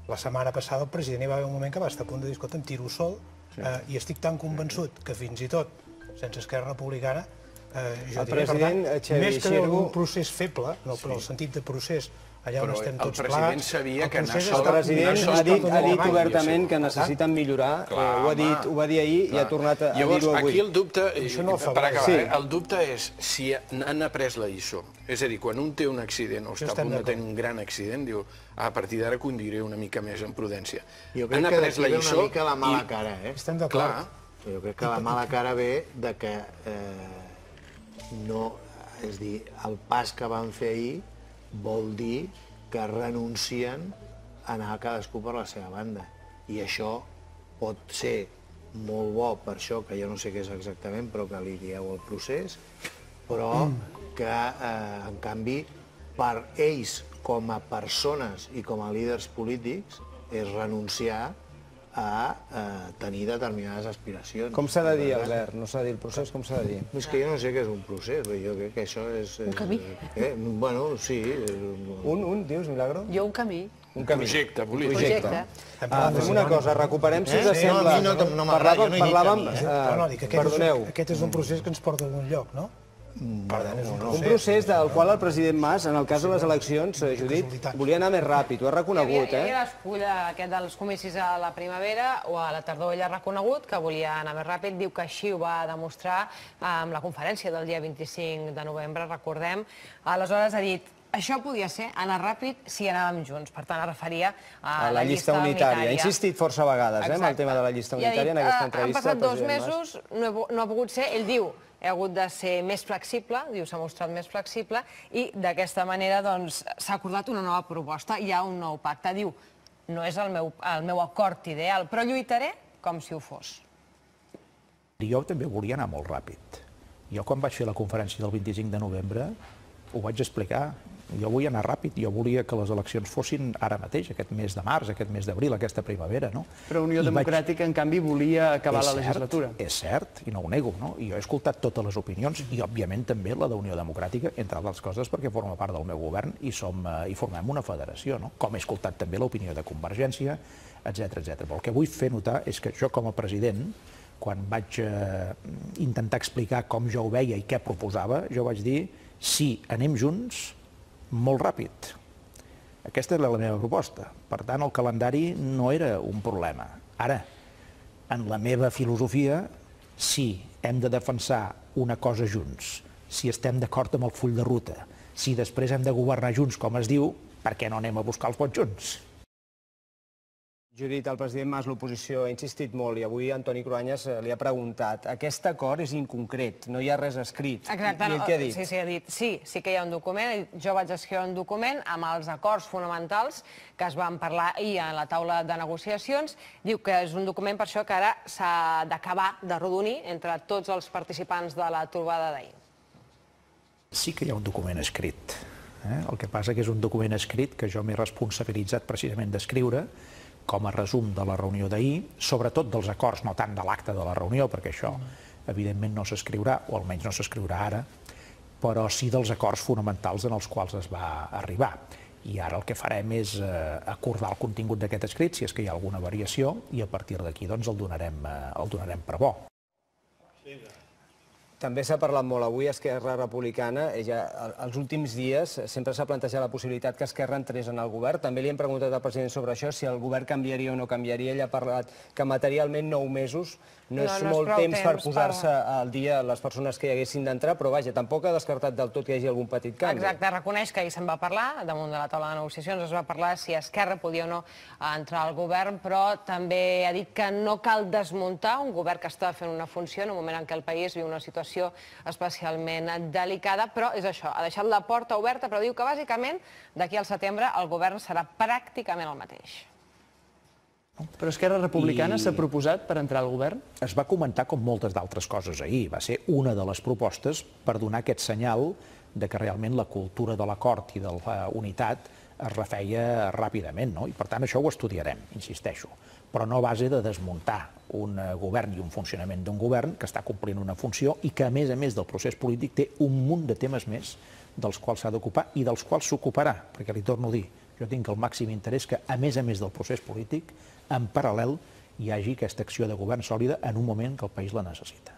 [SPEAKER 6] La setmana passada el president hi va haver un moment que va estar a punt de dir, escolta, em tiro sol, i estic tan convençut que fins i tot, sense Esquerra Republicana, jo diria, per tant, més que un procés feble, no per el sentit de procés, allà on estem tots plats...
[SPEAKER 4] Però el president sabia que
[SPEAKER 1] el president ha dit obertament que necessiten millorar, ho va dir ahir i ha tornat a dir-ho avui.
[SPEAKER 4] Aquí el dubte, per acabar, el dubte és si han après la lliçó. És a dir, quan un té un accident o està a punt de tenir un gran accident, diu, a partir d'ara conduiré una mica més en prudència.
[SPEAKER 5] Jo crec que d'aquí ve una mica la mala cara, eh?
[SPEAKER 6] Estem d'acord.
[SPEAKER 5] Jo crec que la mala cara ve de que no... És dir, el pas que van fer ahir vol dir que renuncien a anar cadascú per la seva banda. I això pot ser molt bo per això, que jo no sé què és exactament, però que li dieu el procés, però que, en canvi, per ells, com a persones i com a líders polítics, és renunciar a tenir determinades aspiracions.
[SPEAKER 1] Com s'ha de dir, Albert? No s'ha de dir el procés, com s'ha de dir?
[SPEAKER 5] És que jo no sé què és un procés, jo crec que això és... Un camí? Bueno, sí.
[SPEAKER 1] Dius, Milagro?
[SPEAKER 3] Jo un camí.
[SPEAKER 4] Un projecte polític.
[SPEAKER 1] Fem una cosa, recuperem, si us sembla... Parlàvem... Perdoneu.
[SPEAKER 6] Aquest és un procés que ens porta a algun lloc, no?
[SPEAKER 1] Un procés del qual el president Mas, en el cas de les eleccions, Judit, volia anar més ràpid, ho ha reconegut,
[SPEAKER 7] Hi havia l'escull aquest dels comicis a la primavera o a la tardor, ell ha reconegut que volia anar més ràpid, diu que així ho va demostrar amb la conferència del dia 25 de novembre, recordem. Aleshores ha dit, això podia ser anar ràpid si anàvem junts, per tant es referia a la llista unitària.
[SPEAKER 1] Ha insistit força vegades en el tema de la llista unitària en aquesta entrevista.
[SPEAKER 7] Han passat 2 mesos, no ha pogut ser, ell diu, ha hagut de ser més flexible, diu, s'ha mostrat més flexible, i d'aquesta manera s'ha acordat una nova proposta, hi ha un nou pacte. Diu, no és el meu acord ideal, però lluitaré com si ho fos.
[SPEAKER 8] Jo també volia anar molt ràpid. Jo quan vaig fer la conferència del 25 de novembre ho vaig explicar. Jo volia anar ràpid, jo volia que les eleccions fossin ara mateix, aquest mes de març, aquest mes d'abril, aquesta primavera, no?
[SPEAKER 10] Però Unió Democràtica, en canvi, volia acabar la legislatura.
[SPEAKER 8] És cert, i no ho nego, no? I jo he escoltat totes les opinions, i òbviament també la d'Unió Democràtica, entre altres coses perquè forma part del meu govern i formem una federació, no? Com he escoltat també l'opinió de Convergència, etc. Però el que vull fer notar és que jo com a president, quan vaig intentar explicar com jo ho veia i què proposava, jo vaig dir, sí, anem junts, molt ràpid. Aquesta era la meva proposta. Per tant, el calendari no era un problema. Ara, en la meva filosofia, si hem de defensar una cosa junts, si estem d'acord amb el full de ruta, si després hem de governar junts, com es diu, per què no anem a buscar els vots junts?
[SPEAKER 1] Judit, el president Mas, l'oposició, ha insistit molt i avui Antoni Cruanyes li ha preguntat. Aquest acord és inconcret, no hi ha res escrit.
[SPEAKER 7] Exacte,
[SPEAKER 1] I què ha dit?
[SPEAKER 7] Sí, ha dit, sí que hi ha un document, jo vaig escriure un document amb els acords fonamentals que es van parlar ahir a la taula de negociacions. Diu que és un document per això que ara s'ha d'acabar de rodonir entre tots els participants de la trobada d'ahir.
[SPEAKER 8] Sí que hi ha un document escrit. El que passa que és un document escrit que jo m'he responsabilitzat precisament d'escriure com a resum de la reunió d'ahir, sobretot dels acords, no tant de l'acte de la reunió, perquè això evidentment no s'escriurà, o almenys no s'escriurà ara, però sí dels acords fonamentals en els quals es va arribar. I ara el que farem és acordar el contingut d'aquest escrit, si és que hi ha alguna variació, i a partir d'aquí el donarem per bo.
[SPEAKER 1] També s'ha parlat molt avui, Esquerra Republicana, els últims dies sempre s'ha plantejat la possibilitat que Esquerra entrés en el govern. També li hem preguntat al president sobre això, si el govern canviaria o no canviaria. Ell ha parlat que materialment 9 mesos no és molt temps per posar-se al dia les persones que hi haguessin d'entrar, però vaja, tampoc ha descartat del tot que hi hagi algun petit canvi.
[SPEAKER 7] Exacte, reconeix que ahir se'n va parlar, damunt de la taula de negociacions es va parlar si Esquerra podia o no entrar al govern, però també ha dit que no cal desmuntar un govern que està fent una funció en un moment en què el país viu una situació especialment delicada, però és això, ha deixat la porta oberta, però diu que bàsicament d'aquí al setembre el govern serà pràcticament el mateix.
[SPEAKER 10] Però Esquerra Republicana s'ha proposat per entrar al govern?
[SPEAKER 8] Es va comentar com moltes d'altres coses ahir. Va ser una de les propostes per donar aquest senyal de que realment la cultura de l'acord i de la unitat es refeia ràpidament, no? I per tant això ho estudiarem, insisteixo, però no a base de desmuntar un govern i un funcionament d'un govern que està complint una funció i que a més del procés polític té un munt de temes més dels quals s'ha d'ocupar i dels quals s'ocuparà, perquè li torno a dir, Jo tinc el màxim interès que, a més del procés polític, en paral·lel hi hagi aquesta acció de govern sòlida en un moment que el país la necessita.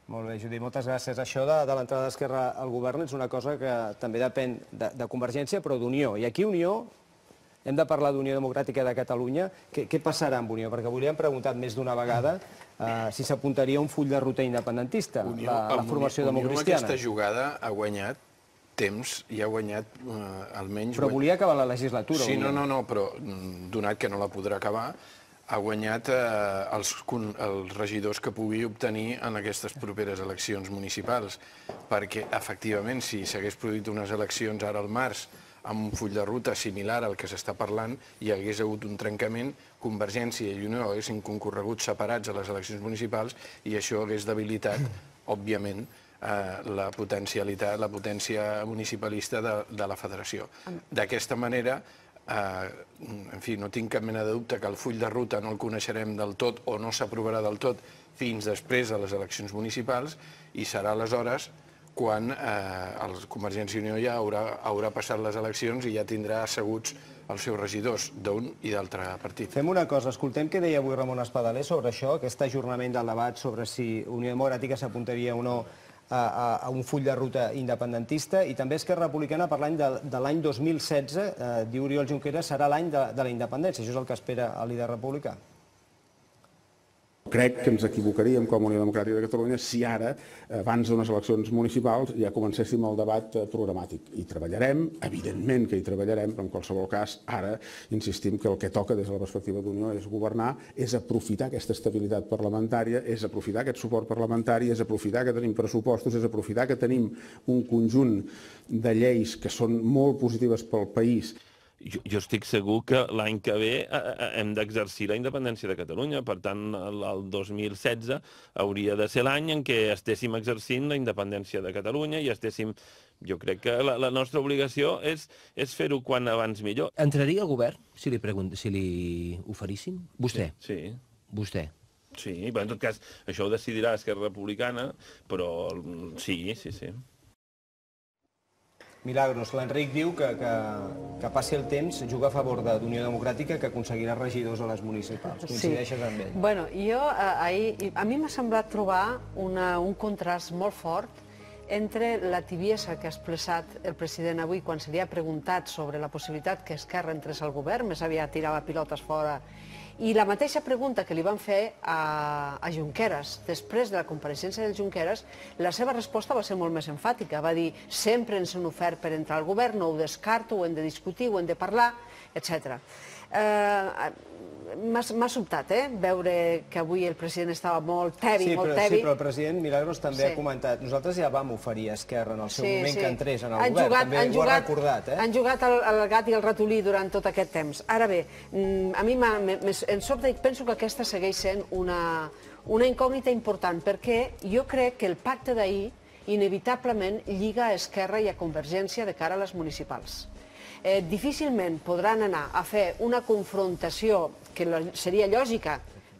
[SPEAKER 1] Molt bé, Judit, moltes gràcies. Això de l'entrada d'Esquerra al govern és una cosa que també depèn de Convergència, però d'Unió. I aquí Unió, hem de parlar d'Unió Democràtica de Catalunya. Què passarà amb Unió? Perquè avui li hem preguntat més d'una vegada si s'apuntaria un full de ruta independentista, la formació democristiana.
[SPEAKER 4] Unió, aquesta jugada ha guanyat temps i ha guanyat almenys...
[SPEAKER 1] Però volia acabar la legislatura.
[SPEAKER 4] Sí, no, però donat que no la podrà acabar, ha guanyat els regidors que pugui obtenir en aquestes properes eleccions municipals, perquè, efectivament, si s'hagués produït unes eleccions ara al març amb un full de ruta similar al que s'està parlant, hi hagués hagut un trencament, Convergència i Unió haguessin concorregut separats a les eleccions municipals i això hagués debilitat, òbviament, la potència municipalista de la federació. D'aquesta manera, en fi, no tinc cap mena de dubte que el full de ruta no el coneixerem del tot o no s'aprovarà del tot fins després de les eleccions municipals i serà aleshores quan Convergència i Unió ja haurà passat les eleccions i ja tindrà asseguts els seus regidors d'un i d'altre partit.
[SPEAKER 1] Fem una cosa, escoltem què deia avui Ramon Espadaler sobre això, aquest ajornament del debat sobre si Unió Democràtica s'apuntaria o no a un full de ruta independentista, i també Esquerra Republicana parlant de l'any 2016, diu Oriol Junqueras, serà l'any de la independència. Això és el que espera el líder republicà.
[SPEAKER 11] Crec que ens equivocaríem com a Unió Democràtica de Catalunya si ara, abans d'unes eleccions municipals, ja comencéssim el debat programàtic. I treballarem, evidentment que hi treballarem, però en qualsevol cas, ara insistim que el que toca des de la perspectiva d'Unió és governar, és aprofitar aquesta estabilitat parlamentària, és aprofitar aquest suport parlamentari, és aprofitar que tenim pressupostos, és aprofitar que tenim un conjunt de lleis que són molt positives pel país.
[SPEAKER 12] Jo estic segur que l'any que ve hem d'exercir la independència de Catalunya. Per tant, el 2016 hauria de ser l'any en què estéssim exercint la independència de Catalunya i estéssim... Jo crec que la nostra obligació és fer-ho quan abans millor.
[SPEAKER 13] Entraria al govern si li oferissin? Vostè?
[SPEAKER 12] Sí.
[SPEAKER 13] Vostè?
[SPEAKER 12] Sí, però en tot cas, això ho decidirà Esquerra Republicana, però sí.
[SPEAKER 1] Milagros, l'Enric diu que passi el temps, juga a favor d'Unió Democràtica, que aconseguirà regidors a les municipals. Coincideixes amb ell?
[SPEAKER 3] Bueno, a mi m'ha semblat trobar un contrast molt fort entre la tibiesa que ha expressat el president avui quan se li ha preguntat sobre la possibilitat que Esquerra entrés al govern, més aviat tirava pilotes fora, i la mateixa pregunta que li van fer a Junqueras, després de la compareixença del Junqueras, la seva resposta va ser molt més enfàtica. Va dir, sempre ens han ofert per entrar al govern, no ho descarto, ho hem de discutir, ho hem de parlar, etc. M'ha sobtat, veure que avui el president estava molt tebi, molt tebi.
[SPEAKER 1] Sí, però el president Milagros també ha comentat, nosaltres ja vam oferir a Esquerra en el seu moment que entrés en el govern, també ho ha recordat.
[SPEAKER 3] Han jugat el gat i el ratolí durant tot aquest temps. Ara bé, a mi em sobta i penso que aquesta segueix sent una incògnita important, perquè jo crec que el pacte d'ahir inevitablement lliga a Esquerra i a Convergència de cara a les municipals. Difícilment podran anar a fer una confrontació que seria lògica,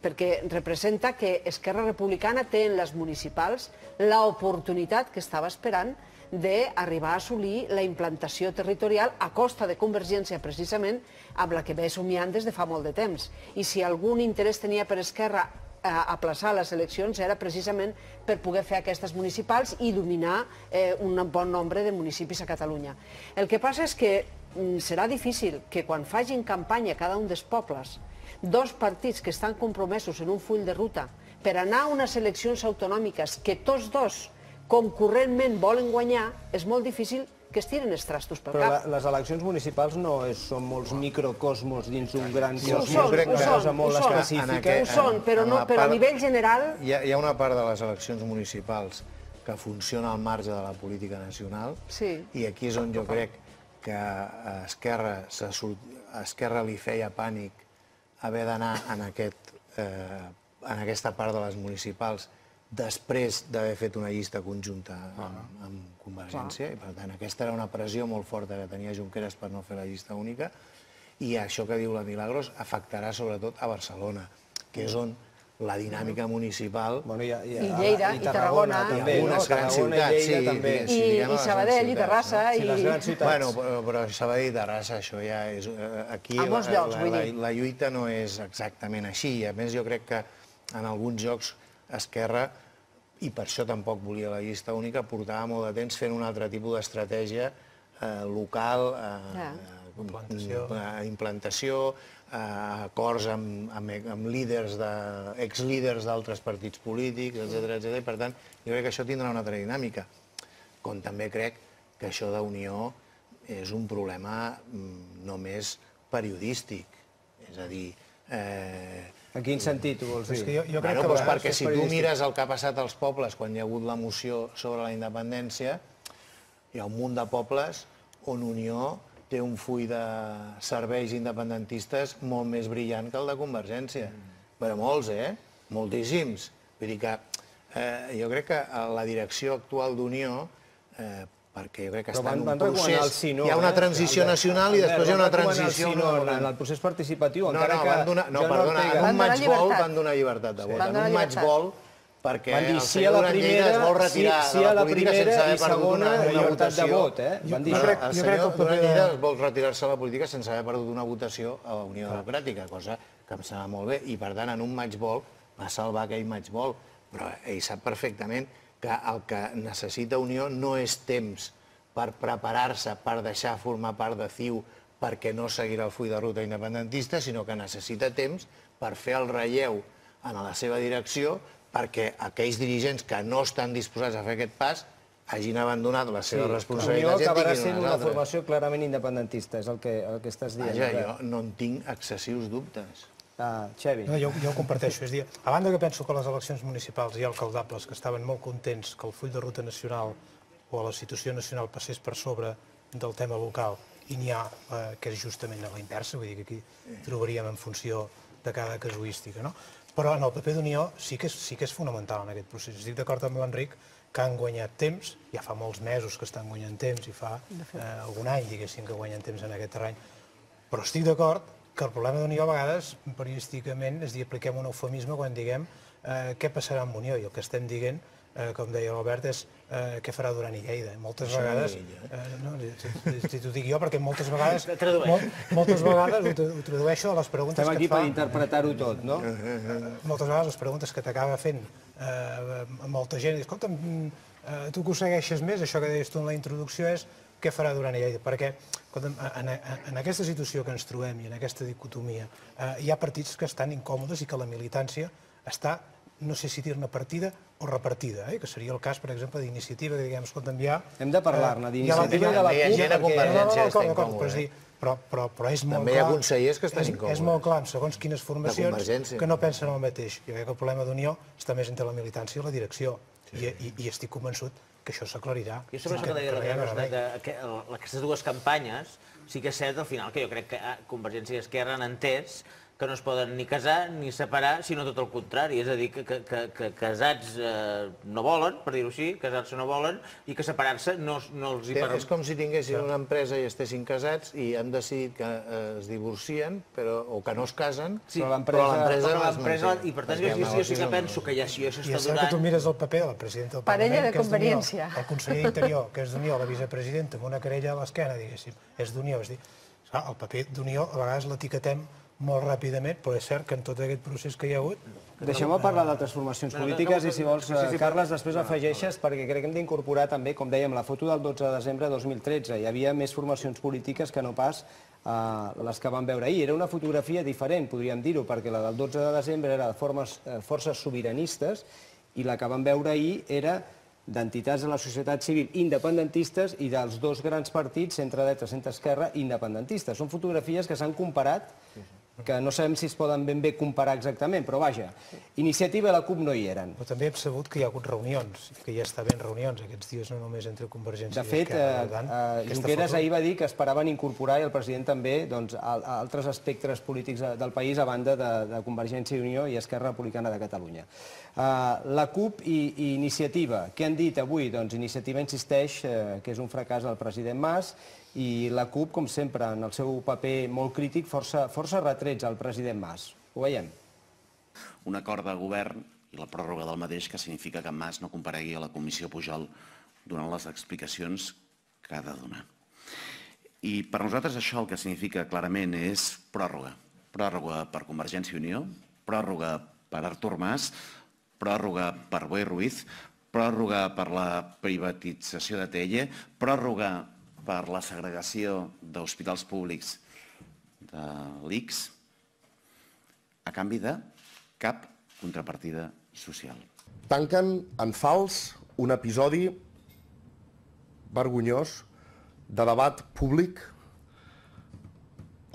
[SPEAKER 3] perquè representa que Esquerra Republicana té en les municipals l'oportunitat que estava esperant d'arribar a assolir la implantació territorial a costa de Convergència, precisament, amb la que ve somiant des de fa molt de temps. I si algun interès tenia per Esquerra aplaçar les eleccions era precisament per poder fer aquestes municipals i dominar un bon nombre de municipis a Catalunya. El que passa és que serà difícil que quan facin campanya cada un dels pobles, dos partits que estan compromesos en un full de ruta per anar a unes eleccions autonòmiques que tots dos concurrentment volen guanyar, és molt difícil que es tiren els trastos pel cap.
[SPEAKER 1] Però les eleccions municipals no són molts microcosmos dins d'un gran cosmos.
[SPEAKER 3] Ho són, però a nivell general...
[SPEAKER 5] Hi ha una part de les eleccions municipals que funciona al marge de la política nacional i aquí és on jo crec que a Esquerra li feia pànic haver d'anar en aquesta part de les municipals després d'haver fet una llista conjunta amb Convergència, i per tant aquesta era una pressió molt forta que tenia Junqueras per no fer la llista única, i això que diu la Milagros afectarà sobretot a Barcelona, que és on la dinàmica municipal...
[SPEAKER 3] I Lleida, i Tarragona,
[SPEAKER 5] també, algunes grans ciutats, sí.
[SPEAKER 3] I Sabadell, i Terrassa, i...
[SPEAKER 5] Bueno, però Sabadell i Terrassa, això ja és... Aquí la lluita no és exactament així. A més, jo crec que en alguns jocs Esquerra, i per això tampoc volia la llista única, portava molt de temps fent un altre tipus d'estratègia local, implantació, acords amb líders, exlíders d'altres partits polítics, etc. Per tant, jo crec que això tindrà una altra dinàmica. Com també crec que això d'Unió és un problema només periodístic. És a dir...
[SPEAKER 1] En quin sentit ho vols dir?
[SPEAKER 5] Perquè si tu mires el que ha passat als pobles quan hi ha hagut la moció sobre la independència, hi ha un munt de pobles on Unió té un full de serveis independentistes molt més brillant que el de Convergència. Però molts, moltíssims. Vull dir que jo crec que la direcció actual d'Unió, perquè jo crec que està en un procés... Hi ha una transició nacional i després hi ha una transició...
[SPEAKER 1] En el procés participatiu,
[SPEAKER 5] encara que... No, perdona, en un matchball van donar llibertat de vot. En un matchball, perquè el senyor Duran Lleida es vol retirar de la política sense haver perdut una votació. El senyor Duran Lleida vol retirar-se de la política sense haver perdut una votació a la Unió Democràtica, cosa que em sembla molt bé. I, per tant, en un matchball va salvar aquell matchball. Però ell sap perfectament que el que necessita Unió no és temps per preparar-se, per deixar formar part de CiU perquè no seguirà el full de ruta independentista, sinó que necessita temps per fer el relleu en la seva direcció perquè aquells dirigents que no estan disposats a fer aquest pas hagin abandonat les seves responsabilitats i en tinguin unes altres.
[SPEAKER 1] Acabarà sent una formació clarament independentista, és el que estàs dient.
[SPEAKER 5] Vaja, jo no en tinc excessius dubtes.
[SPEAKER 1] Xavi.
[SPEAKER 6] Jo ho comparteixo. És a dir, a banda que penso que les eleccions municipals i alcaldables que estaven molt contents que el full de ruta nacional o la situació nacional passés per sobre del tema local i n'hi ha que és justament a la inversa, vull dir que aquí trobaríem en funció de cada casuística, no? Però en el paper d'Unió sí que és fonamental en aquest procés. Estic d'acord amb l'Enric que han guanyat temps, ja fa molts mesos que estan guanyant temps i fa algun any, diguéssim, que guanyen temps en aquest terreny. Però estic d'acord que el problema d'Unió a vegades, periodísticament, és dir, apliquem un eufemisme quan diguem què passarà amb Unió, i el que estem dient, com deia l'Albert, és què farà Duran i Lleida. Moltes vegades, si t'ho dic jo, perquè moltes vegades ho tradueixo a les preguntes que et fa...
[SPEAKER 1] Estem aquí per interpretar-ho tot, no?
[SPEAKER 6] Moltes vegades les preguntes que t'acaba fent molta gent, i escolta'm, tu que ho segueixes més, això que deies tu en la introducció és què farà Duran i Lleida, perquè en aquesta situació que ens trobem i en aquesta dicotomia hi ha partits que estan incòmodes i que la militància està, no sé si dir-ne partida o repartida, que seria el cas, per exemple, d'Iniciativa, que diguem, escolta'm, ja...
[SPEAKER 1] Hem de parlar-ne d'Iniciativa i de la CUP,
[SPEAKER 5] perquè... Hi ha gent a Convergència que està incòmode.
[SPEAKER 6] Però és molt clar...
[SPEAKER 5] També hi ha consellers que estan incòmodes.
[SPEAKER 6] És molt clar, segons quines formacions, que no pensen el mateix. Jo crec que el problema d'Unió està més entre la militància i la direcció, i estic convençut que això s'aclarirà.
[SPEAKER 2] Jo sobre això que deia aquestes dues campanyes, sí que és cert al final que jo crec que Convergència i Esquerra han entès que no es poden ni casar ni separar, sinó tot el contrari. És a dir, que casats no volen, per dir-ho així, casar-se no volen, i que separar-se no els hi permet.
[SPEAKER 5] És com si tinguessin una empresa i estessin casats i han decidit que es divorcien o que no es casen, però l'empresa no es manté.
[SPEAKER 2] I per tant, jo sí que penso que ja si això està durant...
[SPEAKER 6] I és cert que tu mires el paper de la presidenta del Parlament, que és d'Unió, el conseller d'Interior, que és d'Unió, la vicepresidenta, amb una querella a l'esquena, diguéssim, és d'Unió. És dir, el paper d'Unió a vegades l'etiquetem molt ràpidament, però és cert que en tot aquest procés que hi ha hagut...
[SPEAKER 1] Deixem-me parlar d'altres formacions polítiques i, si vols, Carles, després afegeixes, perquè crec que hem d'incorporar també, com dèiem, la foto del 12 de desembre de 2013. Hi havia més formacions polítiques que no pas les que vam veure ahir. Era una fotografia diferent, podríem dir-ho, perquè la del 12 de desembre era de forces sobiranistes i la que vam veure ahir era d'entitats de la societat civil independentistes i dels dos grans partits, centre-dreta, centre-esquerra, independentistes. Són fotografies que s'han comparat, que no sabem si es poden ben bé comparar exactament, però vaja, Iniciativa i la CUP no hi eren.
[SPEAKER 6] Però també hem sabut que hi ha hagut reunions, que hi està havent reunions aquests dies, no només entre Convergència i
[SPEAKER 1] Esquerra. De fet, Junqueras ahir va dir que esperaven incorporar, i el president també, altres espectres polítics del país a banda de Convergència i Unió i Esquerra Republicana de Catalunya. La CUP i Iniciativa, què han dit avui? Doncs Iniciativa insisteix que és un fracàs del president Mas, i la CUP, com sempre, en el seu paper molt crític, força retrets al president Mas. Ho veiem.
[SPEAKER 14] Un acord de govern i la pròrroga del mateix, que significa que Mas no comparegui a la comissió Pujol donant les explicacions que ha de donar. I per nosaltres això el que significa clarament és pròrroga. Pròrroga per Convergència i Unió, pròrroga per Artur Mas, pròrroga per Boi Ruiz, pròrroga per la privatització de TEIE, pròrroga per la segregació d'hospitals públics de l'ICS, a canvi de cap contrapartida social.
[SPEAKER 15] Tanquen en fals un episodi vergonyós de debat públic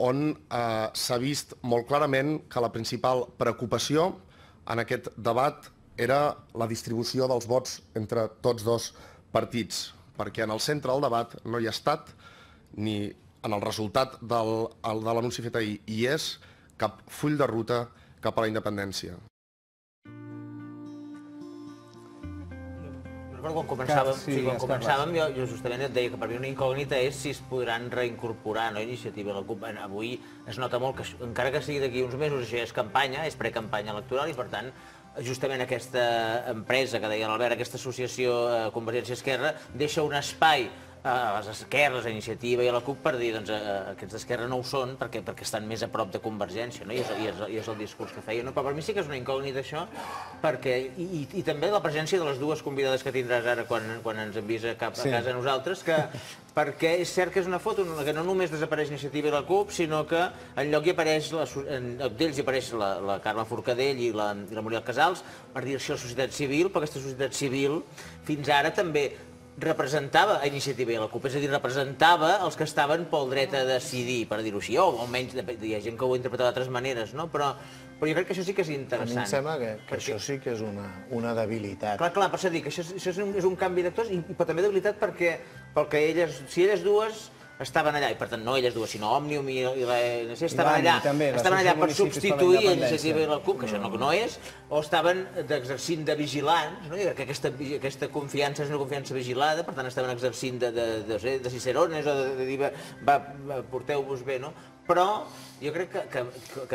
[SPEAKER 15] on s'ha vist molt clarament que la principal preocupació en aquest debat era la distribució dels vots entre tots dos partits, perquè en el centre del debat no hi ha estat, ni en el resultat de l'anunci fet ahir hi és, cap full de ruta cap a la independència.
[SPEAKER 2] Quan començàvem, jo justament et deia que per mi una incògnita és si es podran reincorporar a Iniciativa i la CUP. Avui es nota molt que, encara que sigui d'aquí uns mesos, això ja és campanya, és precampanya electoral i, per tant, justament aquesta empresa que deia l'Albert, aquesta associació Convergència-Esquerra, deixa un espai a les esquerres, a Iniciativa i a la CUP per dir que aquests d'esquerra no ho són perquè estan més a prop de Convergència, i és el discurs que feia. Però per mi sí que és una incògnita això, i també la presència de les dues convidades que tindràs ara quan ens envies a casa a nosaltres, perquè és cert que és una foto que no només desapareix Iniciativa i la CUP, sinó que en lloc d'ells hi apareix la Carme Forcadell i la Muriel Casals per dir-se la societat civil, però aquesta societat civil fins ara també representava a Iniciativa i a la CUP, és a dir, representava els que estaven pel dret a decidir, per dir-ho així, o almenys hi ha gent que ho interpreta d'altres maneres, però jo crec que això sí que és interessant.
[SPEAKER 5] A mi em sembla que això sí que és una debilitat.
[SPEAKER 2] Clar, per això dic que això és un canvi d'actors, però també debilitat perquè si elles dues estaven allà, i per tant no elles dues, sinó Òmnium i l'ANC, estaven allà per substituir a Iniciativa i la CUP, que això no és, o estaven exercint de vigilants, jo crec que aquesta confiança és una confiança vigilada, per tant estaven exercint de cicerones o de dir, porteu-vos bé, no? Però jo crec que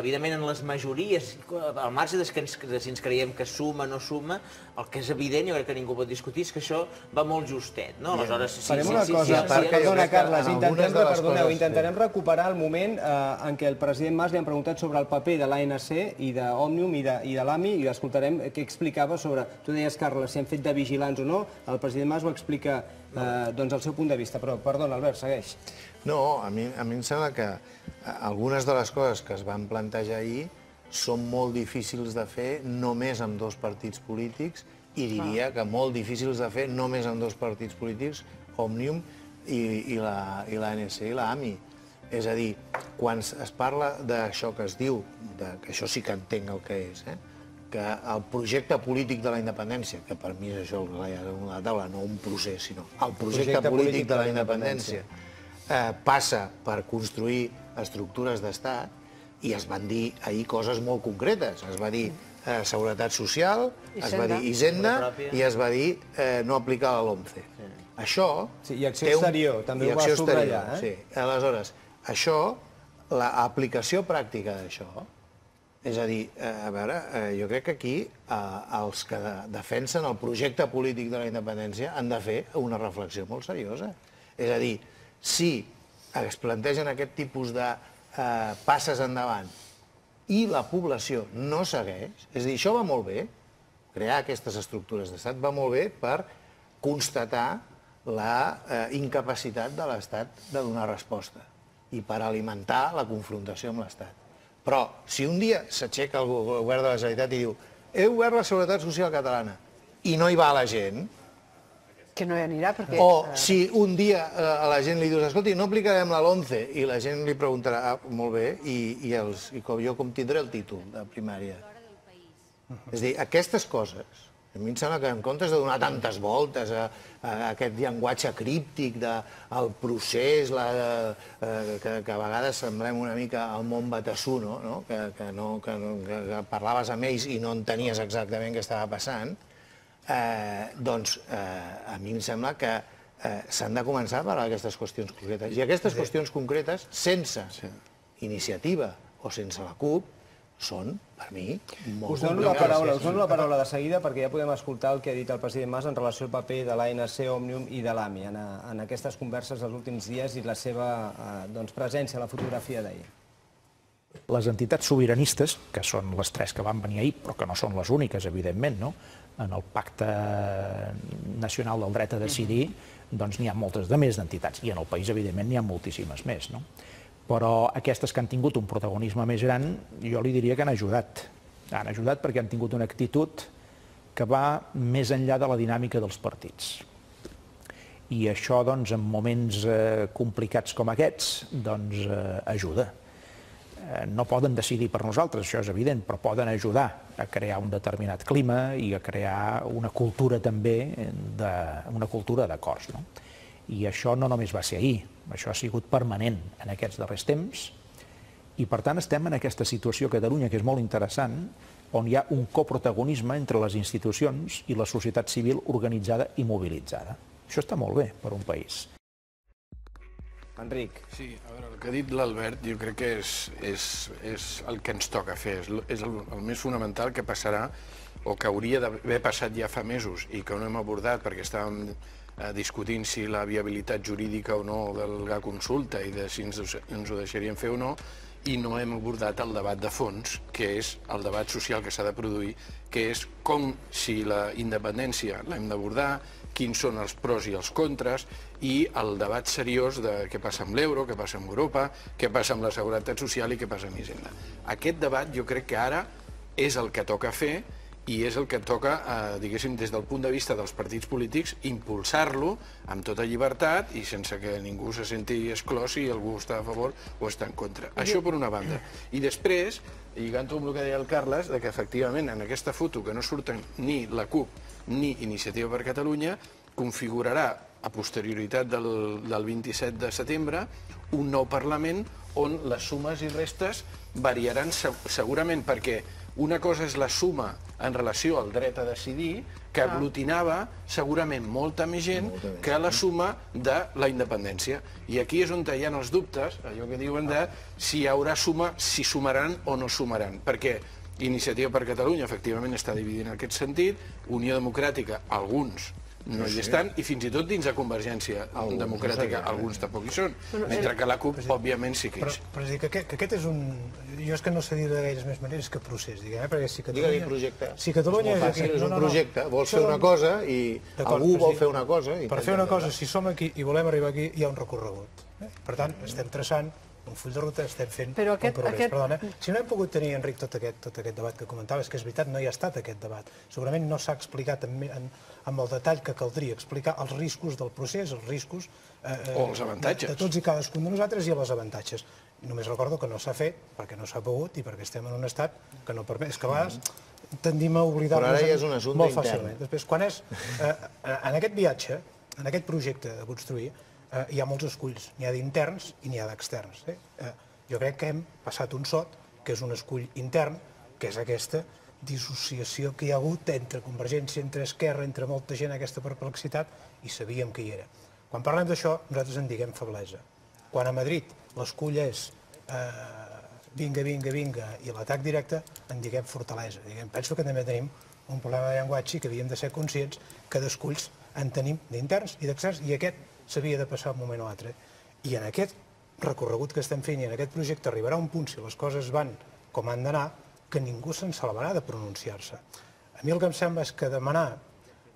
[SPEAKER 2] evidentment en les majories, al marge de si ens creiem que suma o no suma, el que és evident, jo crec que ningú pot discutir, és que això va molt justet, no?
[SPEAKER 1] Farem una cosa, perdona Carles, intentarem recuperar el moment en què el president Mas li han preguntat sobre el paper de l'ANC i d'Òmnium i de l'AMI, i l'escoltarem què explicava sobre, tu deies, Carles, si han fet de vigilants o no, el president Mas ho explica el seu punt de vista, però perdona, Albert, segueix.
[SPEAKER 5] No, a mi em sembla que algunes de les coses que es van plantejar ahir són molt difícils de fer només amb dos partits polítics, i diria que molt difícils de fer només amb dos partits polítics, Òmnium i l'ANC i l'AMI. És a dir, quan es parla d'això que es diu, que això sí que entenc el que és, que el projecte polític de la independència, que per mi és això el que hi ha damunt la taula, no un procés, sinó el projecte polític de la independència, passa per construir estructures d'estat, i es van dir ahir coses molt concretes. Es va dir Seguretat Social, es va dir Hisenda i es va dir no aplicar la LOMCE. Això...
[SPEAKER 1] I acció exterior, també ho va subratllar.
[SPEAKER 5] Aleshores, això, l'aplicació pràctica d'això, és a dir, a veure, jo crec que aquí els que defensen el projecte polític de la independència han de fer una reflexió molt seriosa. És a dir, si es plantegen aquest tipus de passes endavant i la població no segueix, és a dir, això va molt bé, crear aquestes estructures d'estat va molt bé per constatar la incapacitat de l'Estat de donar resposta i per alimentar la confrontació amb l'Estat. Però si un dia s'aixeca el govern de la Generalitat i diu he obert la Seguretat Social catalana i no hi va la gent,
[SPEAKER 3] que no hi anirà perquè...
[SPEAKER 5] O si un dia a la gent li dius, escolti, no aplicarem la LOMCE, i la gent li preguntarà, molt bé, i jo com tindré el títol de primària? És a dir, aquestes coses, a mi em sembla que en comptes de donar tantes voltes a aquest llenguatge críptic del procés, que a vegades semblem una mica el món Batassú, que parlaves amb ells i no entenies exactament què estava passant, doncs a mi em sembla que s'han de començar a parlar d'aquestes qüestions concretes. I aquestes qüestions concretes, sense Iniciativa o sense la CUP, són, per mi, molt
[SPEAKER 1] Us dono la paraula de seguida perquè ja podem escoltar el que ha dit el president Mas en relació al paper de l'ANC, Òmnium i de l'AMI en aquestes converses dels últims dies i la seva presència a la fotografia d'ahir.
[SPEAKER 8] Les entitats sobiranistes, que són les tres que van venir ahir, però que no són les úniques, evidentment, no? En el Pacte Nacional del Dret a Decidir, doncs n'hi ha moltes de més d'entitats, i en el país, evidentment, n'hi ha moltíssimes més, no? Però aquestes que han tingut un protagonisme més gran, jo li diria que han ajudat. Han ajudat perquè han tingut una actitud que va més enllà de la dinàmica dels partits. I això, doncs, en moments complicats com aquests, doncs, ajuda. No poden decidir per nosaltres, això és evident, però poden ajudar a crear un determinat clima i a crear una cultura també, una cultura d'acords. I això no només va ser ahir, això ha sigut permanent en aquests darrers temps i per tant estem en aquesta situació a Catalunya que és molt interessant, on hi ha un coprotagonisme entre les institucions i la societat civil organitzada i mobilitzada. Això està molt bé per un país.
[SPEAKER 1] Enric.
[SPEAKER 4] Sí, a veure, el que ha dit l'Albert jo crec que és el que ens toca fer, és el més fonamental que passarà o que hauria d'haver passat ja fa mesos i que no hem abordat perquè estàvem discutint si la viabilitat jurídica o no de la consulta i de si ens ho deixarien fer o no, i no hem abordat el debat de fons, que és el debat social que s'ha de produir, que és com si la independència l'hem d'abordar, quins són els pros i els contres, i el debat seriós de què passa amb l'euro, què passa amb Europa, què passa amb la seguretat social i què passa amb Hisenda. Aquest debat jo crec que ara és el que toca fer i és el que toca, diguéssim, des del punt de vista dels partits polítics, impulsar-lo amb tota llibertat i sense que ningú se senti exclòs si algú està a favor o està en contra. Això per una banda. I després, lligant-ho amb el que deia el Carles, que efectivament en aquesta foto que no surten ni la CUP ni Iniciativa per Catalunya, configurarà a posterioritat del 27 de setembre un nou Parlament on les sumes i restes variaran segurament perquè una cosa és la suma en relació al dret a decidir, que aglutinava segurament molta més gent que la suma de la independència. I aquí és on hi ha els dubtes, allò que diuen de si hi haurà suma, si sumaran o no sumaran. Perquè Iniciativa per Catalunya, efectivament, està dividint en aquest sentit, Unió Democràtica, alguns no hi estan, i fins i tot dins de Convergència Democràtica alguns tampoc hi són, mentre que la CUP, òbviament, sí que hi és.
[SPEAKER 6] Però és dir que aquest és un... Jo és que no sé dir de gaires més maneres que procés, diguem, perquè si Catalunya...
[SPEAKER 5] Digue-li projecte.
[SPEAKER 6] Si Catalunya
[SPEAKER 5] és molt fàcil, és un projecte. Vols fer una cosa i algú vol fer una cosa...
[SPEAKER 6] Per fer una cosa, si som aquí i volem arribar aquí, hi ha un recorregut. Per tant, estem traçant un full de ruta, estem fent un progrés. Perdona, si no hem pogut tenir, Enric, tot aquest debat que comentaves, que és veritat, no hi ha estat aquest debat. Segurament no s'ha explicat amb el detall que caldria explicar els riscos del procés, els riscos
[SPEAKER 4] o els avantatges
[SPEAKER 6] de tots i cadascun de nosaltres i els avantatges. Només recordo que no s'ha fet perquè no s'ha pogut i perquè estem en un estat que no permet. És que a vegades tendim a oblidar-nos molt fàcilment. Després, quan és en aquest viatge, en aquest projecte de construir, hi ha molts esculls, n'hi ha d'interns i n'hi ha d'externs. Jo crec que hem passat un sot, que és un escull intern, que és aquesta dissociació que hi ha hagut entre Convergència, entre Esquerra, entre molta gent, aquesta perplexitat, i sabíem que hi era. Quan parlem d'això, nosaltres en diguem feblesa. Quan a Madrid l'escull és vinga, vinga, vinga, i l'atac directe, en diguem fortalesa. Penso que també tenim un problema de llenguatge i que havíem de ser conscients que d'esculls en tenim d'interns i d'externs, i aquest s'havia de passar un moment o altre. I en aquest recorregut que estem fent i en aquest projecte arribarà un punt, si les coses van com han d'anar, que ningú se'n salvarà de pronunciar-se. A mi el que em sembla és que demanar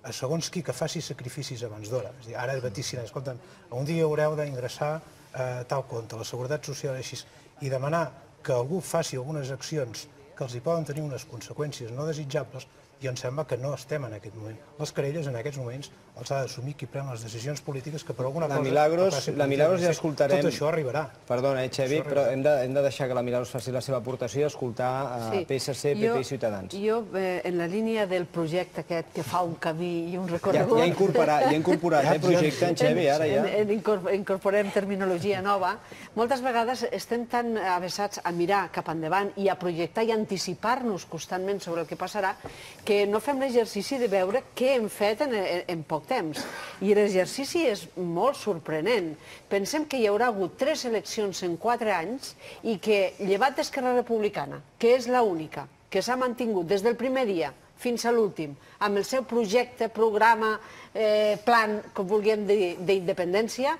[SPEAKER 6] a segons qui que faci sacrificis abans d'hora, és a dir, ara vaticina, escolta'm, un dia haureu d'ingressar tal compte, la seguretat social així, i demanar que algú faci algunes accions que els hi poden tenir unes conseqüències no desitjables, i em sembla que no estem en aquest moment. Les querelles en aquests moments els ha d'assumir qui pren les decisions polítiques que per alguna cosa...
[SPEAKER 1] La Milagros ja escoltarem...
[SPEAKER 6] Tot això arribarà.
[SPEAKER 1] Perdona, Xevi, però hem de deixar que la Milagros faci la seva aportació i escoltar PSC, PP i Ciutadans.
[SPEAKER 3] Jo, en la línia del projecte aquest que fa un camí i un recorregut...
[SPEAKER 1] Ja ha incorporat projecte en Xevi, ara ja.
[SPEAKER 3] Incorporem terminologia nova. Moltes vegades estem tan avesats a mirar cap endavant i a projectar i anticipar-nos constantment sobre el que passarà que no fem l'exercici de veure què hem fet en poc temps. I l'exercici és molt sorprenent. Pensem que hi haurà hagut 3 eleccions en 4 anys i que, llevat d'Esquerra Republicana, que és l'única que s'ha mantingut des del primer dia fins a l'últim, amb el seu projecte, programa, plan, com vulguem dir, d'independència,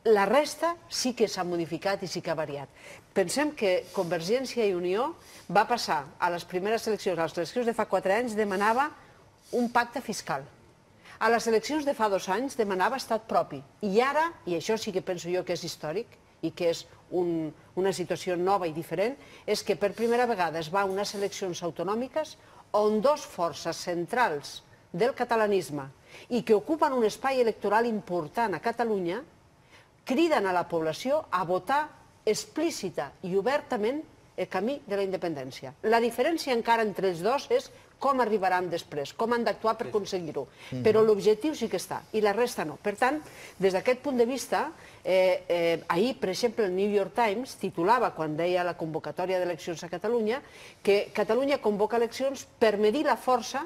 [SPEAKER 3] la resta sí que s'ha modificat i sí que ha variat. Pensem que Convergència i Unió va passar a les primeres eleccions, a les eleccions de fa 4 anys, demanava un pacte fiscal. A les eleccions de fa 2 anys demanava estat propi. I ara, i això sí que penso jo que és històric i que és una situació nova i diferent, és que per primera vegada es va a unes eleccions autonòmiques on 2 forces centrals del catalanisme i que ocupen un espai electoral important a Catalunya criden a la població a votar explícita i obertament el camí de la independència. La diferència encara entre els dos és com arribaran després, com han d'actuar per aconseguir-ho. Però l'objectiu sí que està, i la resta no. Per tant, des d'aquest punt de vista, ahir, per exemple, el New York Times titulava, quan deia la convocatòria d'eleccions a Catalunya, que Catalunya convoca eleccions per medir la força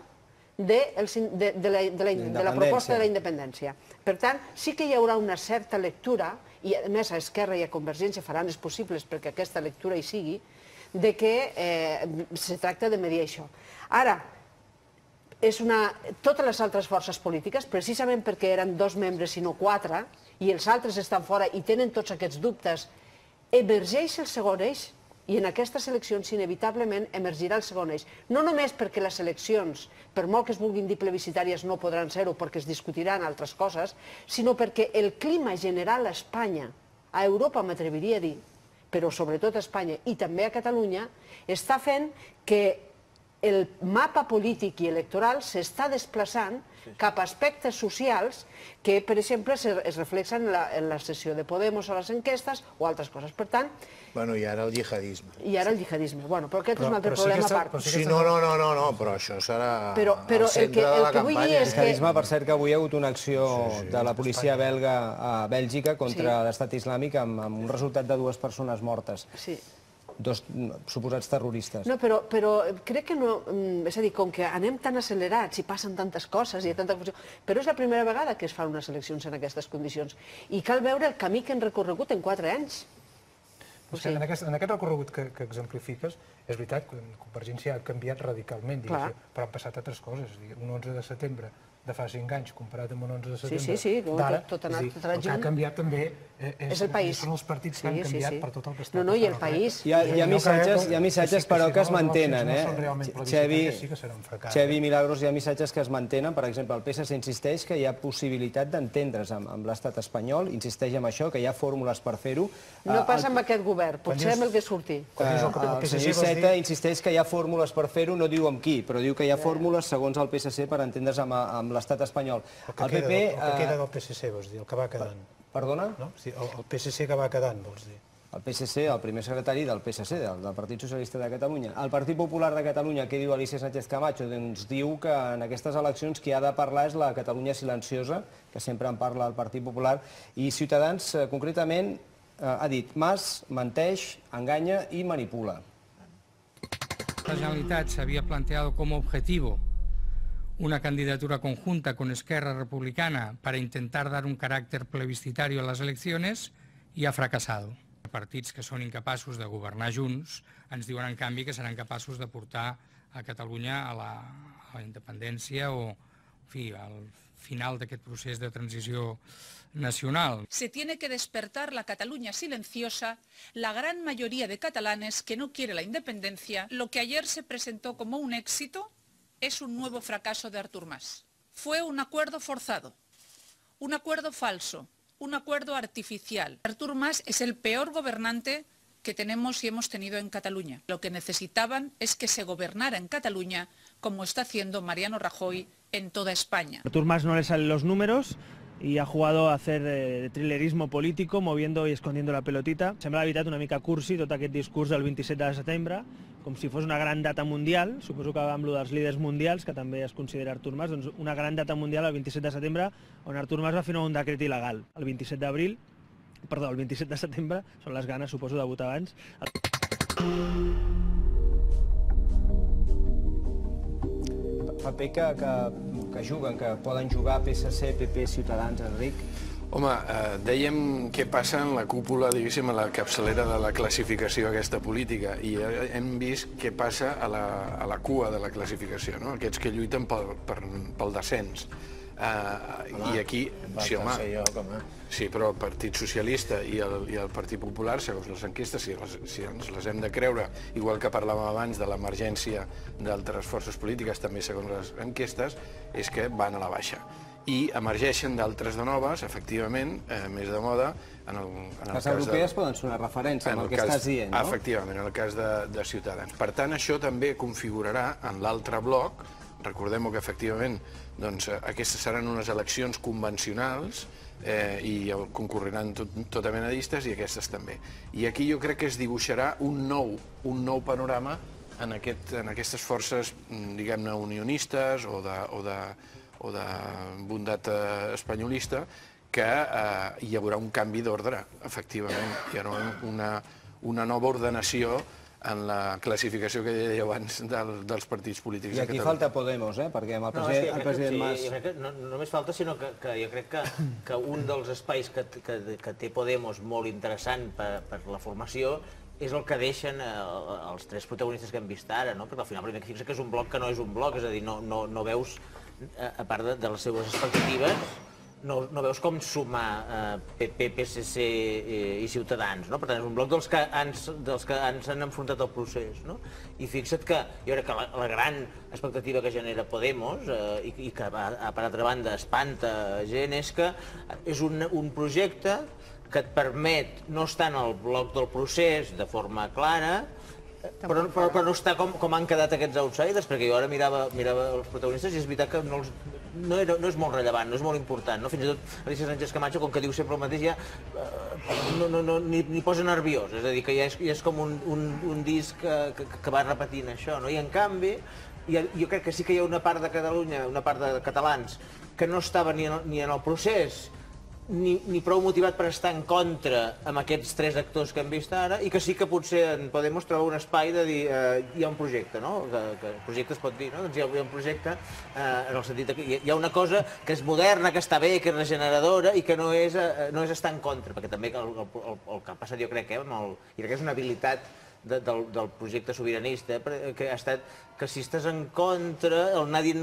[SPEAKER 3] de la proposta de la independència. Per tant, sí que hi haurà una certa lectura, i a més a Esquerra i a Convergència faran els possibles perquè aquesta lectura hi sigui, de que se tracta de medir això. Ara, totes les altres forces polítiques, precisament perquè eren 2 membres i no 4, i els altres estan fora i tenen tots aquests dubtes, emergeix el segon eix. I en aquestes eleccions inevitablement emergirà el segon eix. No només perquè les eleccions, per molt que es vulguin dir plebiscitàries, no podran ser-ho perquè es discutiran altres coses, sinó perquè el clima general a Espanya, a Europa m'atreviria a dir, però sobretot a Espanya i també a Catalunya, està fent que el mapa polític i electoral s'està desplaçant cap a aspectes socials que, per exemple, es reflexen en la sessió de Podemos a les enquestes o altres coses. Per tant...
[SPEAKER 5] Bueno, i ara el jihadisme.
[SPEAKER 3] I ara el jihadisme. Bueno, però aquest és un altre problema a part.
[SPEAKER 5] Sí, no, però això serà
[SPEAKER 3] el centre de la campanya.
[SPEAKER 1] El jihadisme, per cert, que avui hi ha hagut una acció de la policia belga a Bèlgica contra l'estat islàmic amb un resultat de 2 persones mortes.
[SPEAKER 3] Sí.
[SPEAKER 1] 2 suposats terroristes.
[SPEAKER 3] No, però crec que no... És a dir, com que anem tan accelerats i passen tantes coses i hi ha tanta confusió, però és la primera vegada que es fan unes eleccions en aquestes condicions. I cal veure el camí que han recorregut en 4 anys.
[SPEAKER 6] En aquest recorregut que exemplifiques, és veritat que Convergència ha canviat radicalment, però han passat altres coses. Un 11 de setembre de fa 5 anys comparat amb un 11 de setembre d'ara, el que ha canviat també són els partits que han canviat per tot el que està passant.
[SPEAKER 3] No, i el país.
[SPEAKER 1] Hi ha missatges, però, que es mantenen. Xevi Milagros, hi ha missatges que es mantenen. Per exemple, el PSC insisteix que hi ha possibilitat d'entendre's amb l'estat espanyol, insisteix en això, que hi ha fórmules per fer-ho.
[SPEAKER 3] No passa amb aquest govern, potser amb el que surti.
[SPEAKER 1] El senyor Iceta insisteix que hi ha fórmules per fer-ho, no diu amb qui, però diu que hi ha fórmules, segons el PSC, per entendre's amb l'estat espanyol.
[SPEAKER 6] El que queda del PSC, vols dir, el que va quedant.
[SPEAKER 1] Perdona?
[SPEAKER 6] El PSC que va quedant, vols dir.
[SPEAKER 1] El PSC, el primer secretari del PSC, del Partit Socialista de Catalunya. El Partit Popular de Catalunya, què diu Alicia Sánchez Camacho? Doncs diu que en aquestes eleccions qui ha de parlar és la Catalunya silenciosa, que sempre en parla el Partit Popular, i Ciutadans, concretament, ha dit: Mas menteix, enganya i manipula.
[SPEAKER 16] La Generalitat s'havia plantejado como objetivo una candidatura conjunta con Esquerra Republicana para intentar dar un carácter plebiscitario a las elecciones y ha fracasado. Partits que són incapaços de governar junts ens diuen, en canvi, que seran capaços de portar a Catalunya a la independència o, en fi, al final d'aquest procés de transició nacional.
[SPEAKER 17] Se tiene que despertar la Cataluña silenciosa, la gran mayoría de catalanes que no quiere la independencia. Lo que ayer se presentó como un éxito es un nuevo fracaso de Artur Mas. Fue un acuerdo forzado, un acuerdo falso, un acuerdo artificial. Artur Mas es el peor gobernante que tenemos y hemos tenido en Cataluña. Lo que necesitaban es que se gobernara en Cataluña como está haciendo Mariano Rajoy en toda España.
[SPEAKER 18] Artur Mas no le salen los números y ha jugado a hacer trilerismo político, moviendo y escondiendo la pelotita. Sembla, la veritat, una mica cursi tot aquest discurs del 27 de setembre, com si fos una gran data mundial, suposo que amb lo dels líders mundials, que també es considera Artur Mas, doncs una gran data mundial el 27 de setembre, on Artur Mas va firmar un decret il·legal. El 27 de setembre, són les ganes, suposo, de votar abans.
[SPEAKER 1] paper que juguen, que poden jugar PSC, PP, Ciutadans, Enric?
[SPEAKER 4] Home, dèiem què passa en la cúpula, diguéssim, a la capçalera de la classificació aquesta política, i hem vist què passa a la cua de la classificació, no? Aquests que lluiten pel descens. I aquí, sí, home, sí, però el Partit Socialista i el Partit Popular, segons les enquestes, si ens les hem de creure, igual que parlàvem abans de l'emergència d'altres forces polítiques, també segons les enquestes, és que van a la baixa. I emergeixen d'altres de noves, efectivament, més de moda, en el cas de...
[SPEAKER 1] Les europees poden ser una referència amb el que estàs dient, no?
[SPEAKER 4] Efectivament, en el cas de Ciutadans. Per tant, això també configurarà en l'altre bloc. Recordem que, efectivament, aquestes seran unes eleccions convencionals i concurriran tota mena de llistes, i aquestes també. I aquí jo crec que es dibuixarà un nou panorama en aquestes forces, diguem-ne, unionistes o de bondat espanyolista, que hi haurà un canvi d'ordre, efectivament. Hi haurà una nova ordenació en la classificació que deia abans dels partits polítics
[SPEAKER 1] a Catalunya. I aquí falta Podemos, perquè amb el president Mas...
[SPEAKER 2] No només falta, sinó que jo crec que un dels espais que té Podemos molt interessant per la formació és el que deixen els tres protagonistes que hem vist ara, perquè al final primer que fixa que és un bloc que no és un bloc, és a dir, no veus, a part de les seves expectatives, no veus com sumar PP, PSC i Ciutadans. Per tant, és un bloc dels que ens han enfrontat al procés. I fixa't que jo crec que la gran expectativa que genera Podemos, i que per altra banda espanta gent, és que és un projecte que et permet no estar en el bloc del procés de forma clara, però no està com han quedat aquests outsiders, perquè jo ara mirava els protagonistes i és veritat que no és molt rellevant, no és molt important. Fins i tot Alicia Sánchez Camacho, com que diu sempre el mateix, ja ni posa nerviós, és a dir, que ja és com un disc que va repetint això. I en canvi, jo crec que sí que hi ha una part de Catalunya, una part de catalans, que no estava ni en el procés ni prou motivat per estar en contra amb aquests tres actors que hem vist ara, i que sí que potser en Podemos trobar un espai de dir hi ha un projecte, que el projecte es pot dir, hi ha un projecte en el sentit que hi ha una cosa que és moderna, que està bé, que és regeneradora i que no és estar en contra, perquè també el que ha passat jo crec, i crec que és una habilitat del projecte sobiranista, que ha estat que si estàs en contra, el anar dient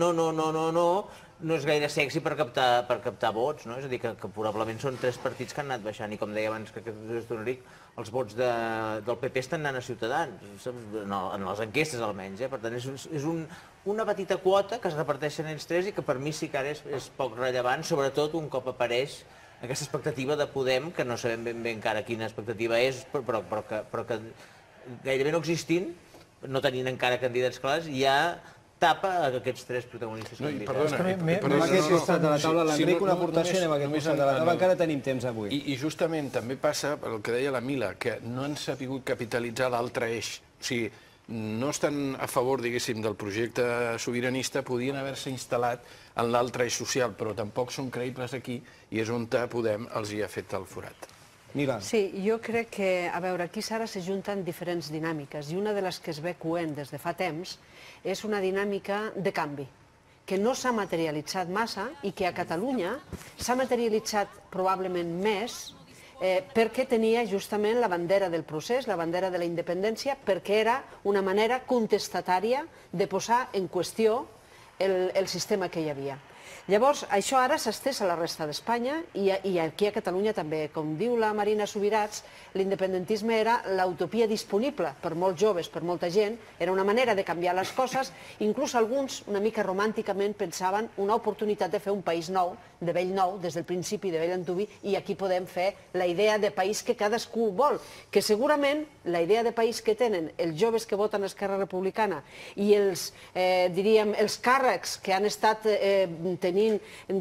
[SPEAKER 2] no és gaire sexy per captar vots, és a dir, que probablement són tres partits que han anat baixant, i com deia abans que Enric, els vots del PP estan anant a Ciutadans, en les enquestes almenys, per tant és una petita quota que es reparteixen ells tres i que per mi sí que ara és poc rellevant, sobretot un cop apareix aquesta expectativa de Podem, que no sabem ben bé encara quina expectativa és, però que gairebé no existint, no tenint encara candidats clars, ja tapa aquests tres protagonistes.
[SPEAKER 1] Anem a aquest costat de la taula. L'Enric, una aportació, anem a aquest costat de la taula. Encara tenim temps avui.
[SPEAKER 4] I justament també passa el que deia la Mila, que no han sabut capitalitzar l'altre eix. O sigui, no estan a favor, diguéssim, del projecte sobiranista, podien haver-se instal·lat en l'altre eix social, però tampoc són creïbles aquí, i és on Podem els hi ha fet el forat.
[SPEAKER 1] Mira.
[SPEAKER 3] Sí, jo crec que, a veure, aquí ara s'ajunten diferents dinàmiques, i una de les que es ve coent des de fa temps és una dinàmica de canvi, que no s'ha materialitzat massa i que a Catalunya s'ha materialitzat probablement més perquè tenia justament la bandera del procés, la bandera de la independència, perquè era una manera contestatària de posar en qüestió el sistema que hi havia. Llavors, això ara s'ha estès a la resta d'Espanya i aquí a Catalunya també. Com diu la Marina Subirats, l'independentisme era l'utopia disponible per molts joves, per molta gent, era una manera de canviar les coses, inclús alguns, una mica romànticament, pensaven una oportunitat de fer un país nou, de vell nou, des del principi de vell antuvi, i aquí podem fer la idea de país que cadascú vol, que segurament la idea de país que tenen els joves que voten a Esquerra Republicana i els càrrecs que han estat tenint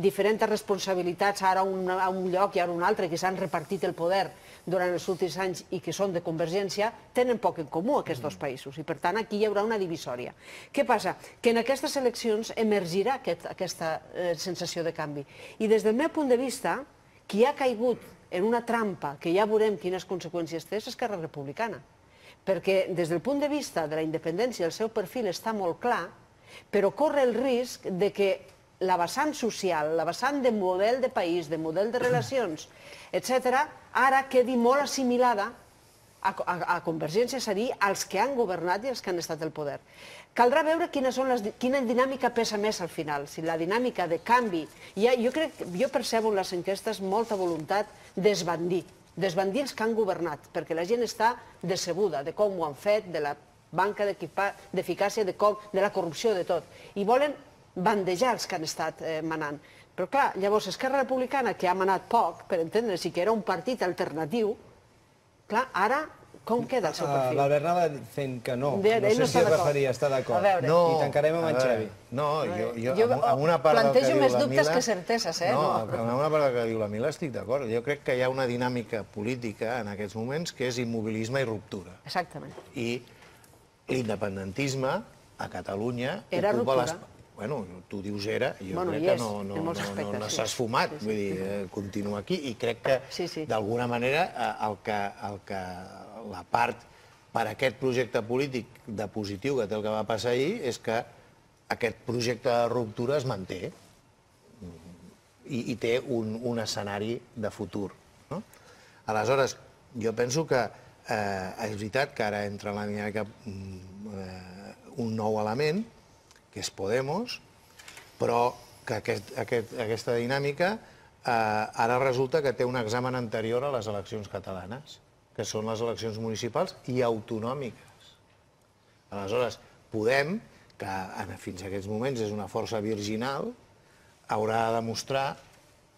[SPEAKER 3] diferents responsabilitats, ara a un lloc i ara a un altre, que s'han repartit el poder durant els últims anys i que són de Convergència, tenen poc en comú aquests dos països, i per tant aquí hi haurà una divisòria. Què passa? Que en aquestes eleccions emergirà aquesta sensació de canvi. I des del meu punt de vista, qui ha caigut en una trampa, que ja veurem quines conseqüències té, és Esquerra Republicana. Perquè des del punt de vista de la independència el seu perfil està molt clar, però corre el risc de que la vessant social, la vessant de model de país, de model de relacions, etc., ara quedi molt assimilada a Convergència, és a dir, als que han governat i als que han estat al poder. Caldrà veure quina dinàmica pesa més al final, si la dinàmica de canvi. Jo percebo en les enquestes molta voluntat d'esbandir els que han governat, perquè la gent està decebuda de com ho han fet, de la manca d'eficàcia, de la corrupció, de tot. I volen bandejar els que han estat manant. Però clar, llavors Esquerra Republicana, que ha manat poc, per entendre's, i que era un partit alternatiu, clar, ara com queda el seu perfil?
[SPEAKER 1] L'Albert anava fent que no. No sé si es referia a estar d'acord. I tancarem amb en Xavi.
[SPEAKER 5] No, jo amb una part del que diu la Mila...
[SPEAKER 3] Plantejo més dubtes que certeses, eh?
[SPEAKER 5] No, amb una part del que diu la Mila estic d'acord. Jo crec que hi ha una dinàmica política en aquests moments que és immobilisme i ruptura.
[SPEAKER 3] Exactament.
[SPEAKER 5] I l'independentisme a Catalunya
[SPEAKER 3] ocupa les...
[SPEAKER 5] Bueno, tu dius era, jo crec que no s'ha esfumat, vull dir, continua aquí, i crec que d'alguna manera la part per aquest projecte polític de positiu que té el que va passar ahir és que aquest projecte de ruptura es manté i té un escenari de futur. Aleshores, jo penso que és veritat que ara entra en la dinàmica un nou element, que és Podemos, però que aquesta dinàmica ara resulta que té un examen anterior a les eleccions catalanes, que són les eleccions municipals i autonòmiques. Aleshores, Podem, que fins a aquests moments és una força virginal, haurà de demostrar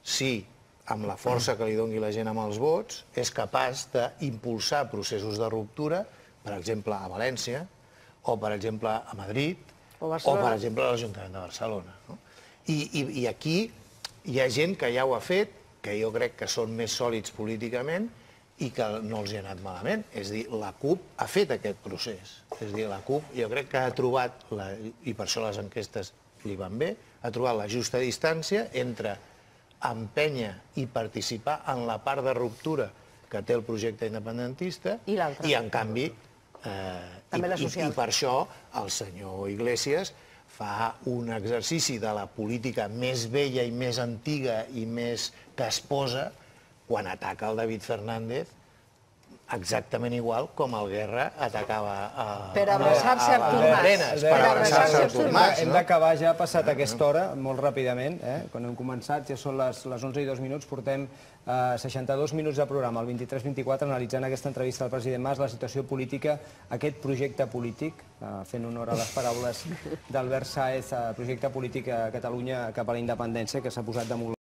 [SPEAKER 5] si, amb la força que li doni la gent amb els vots, és capaç d'impulsar processos de ruptura, per exemple, a València, o, per exemple, a Madrid, o, per exemple, a l'Ajuntament de Barcelona. I aquí hi ha gent que ja ho ha fet, que jo crec que són més sòlids políticament i que no els hi ha anat malament. És a dir, la CUP ha fet aquest procés. És a dir, la CUP jo crec que ha trobat, i per això les enquestes li van bé, ha trobat la justa distància entre empènyer i participar en la part de ruptura que té el projecte independentista i, en canvi, i per això el senyor Iglesias fa un exercici de la política més vella i més antiga i més casposa quan ataca el David Fernández exactament igual com el Guerra atacava
[SPEAKER 3] per abraçar-se a Artur Mas.
[SPEAKER 1] Hem d'acabar, ja ha passat aquesta hora, molt ràpidament. Quan hem començat, ja són les 11:02, portem 62 minuts de programa, el 23-24, analitzant aquesta entrevista al president Mas, la situació política, aquest projecte polític, fent honor a les paraules d'Albert Sáez, projecte polític a Catalunya cap a la independència, que s'ha posat damunt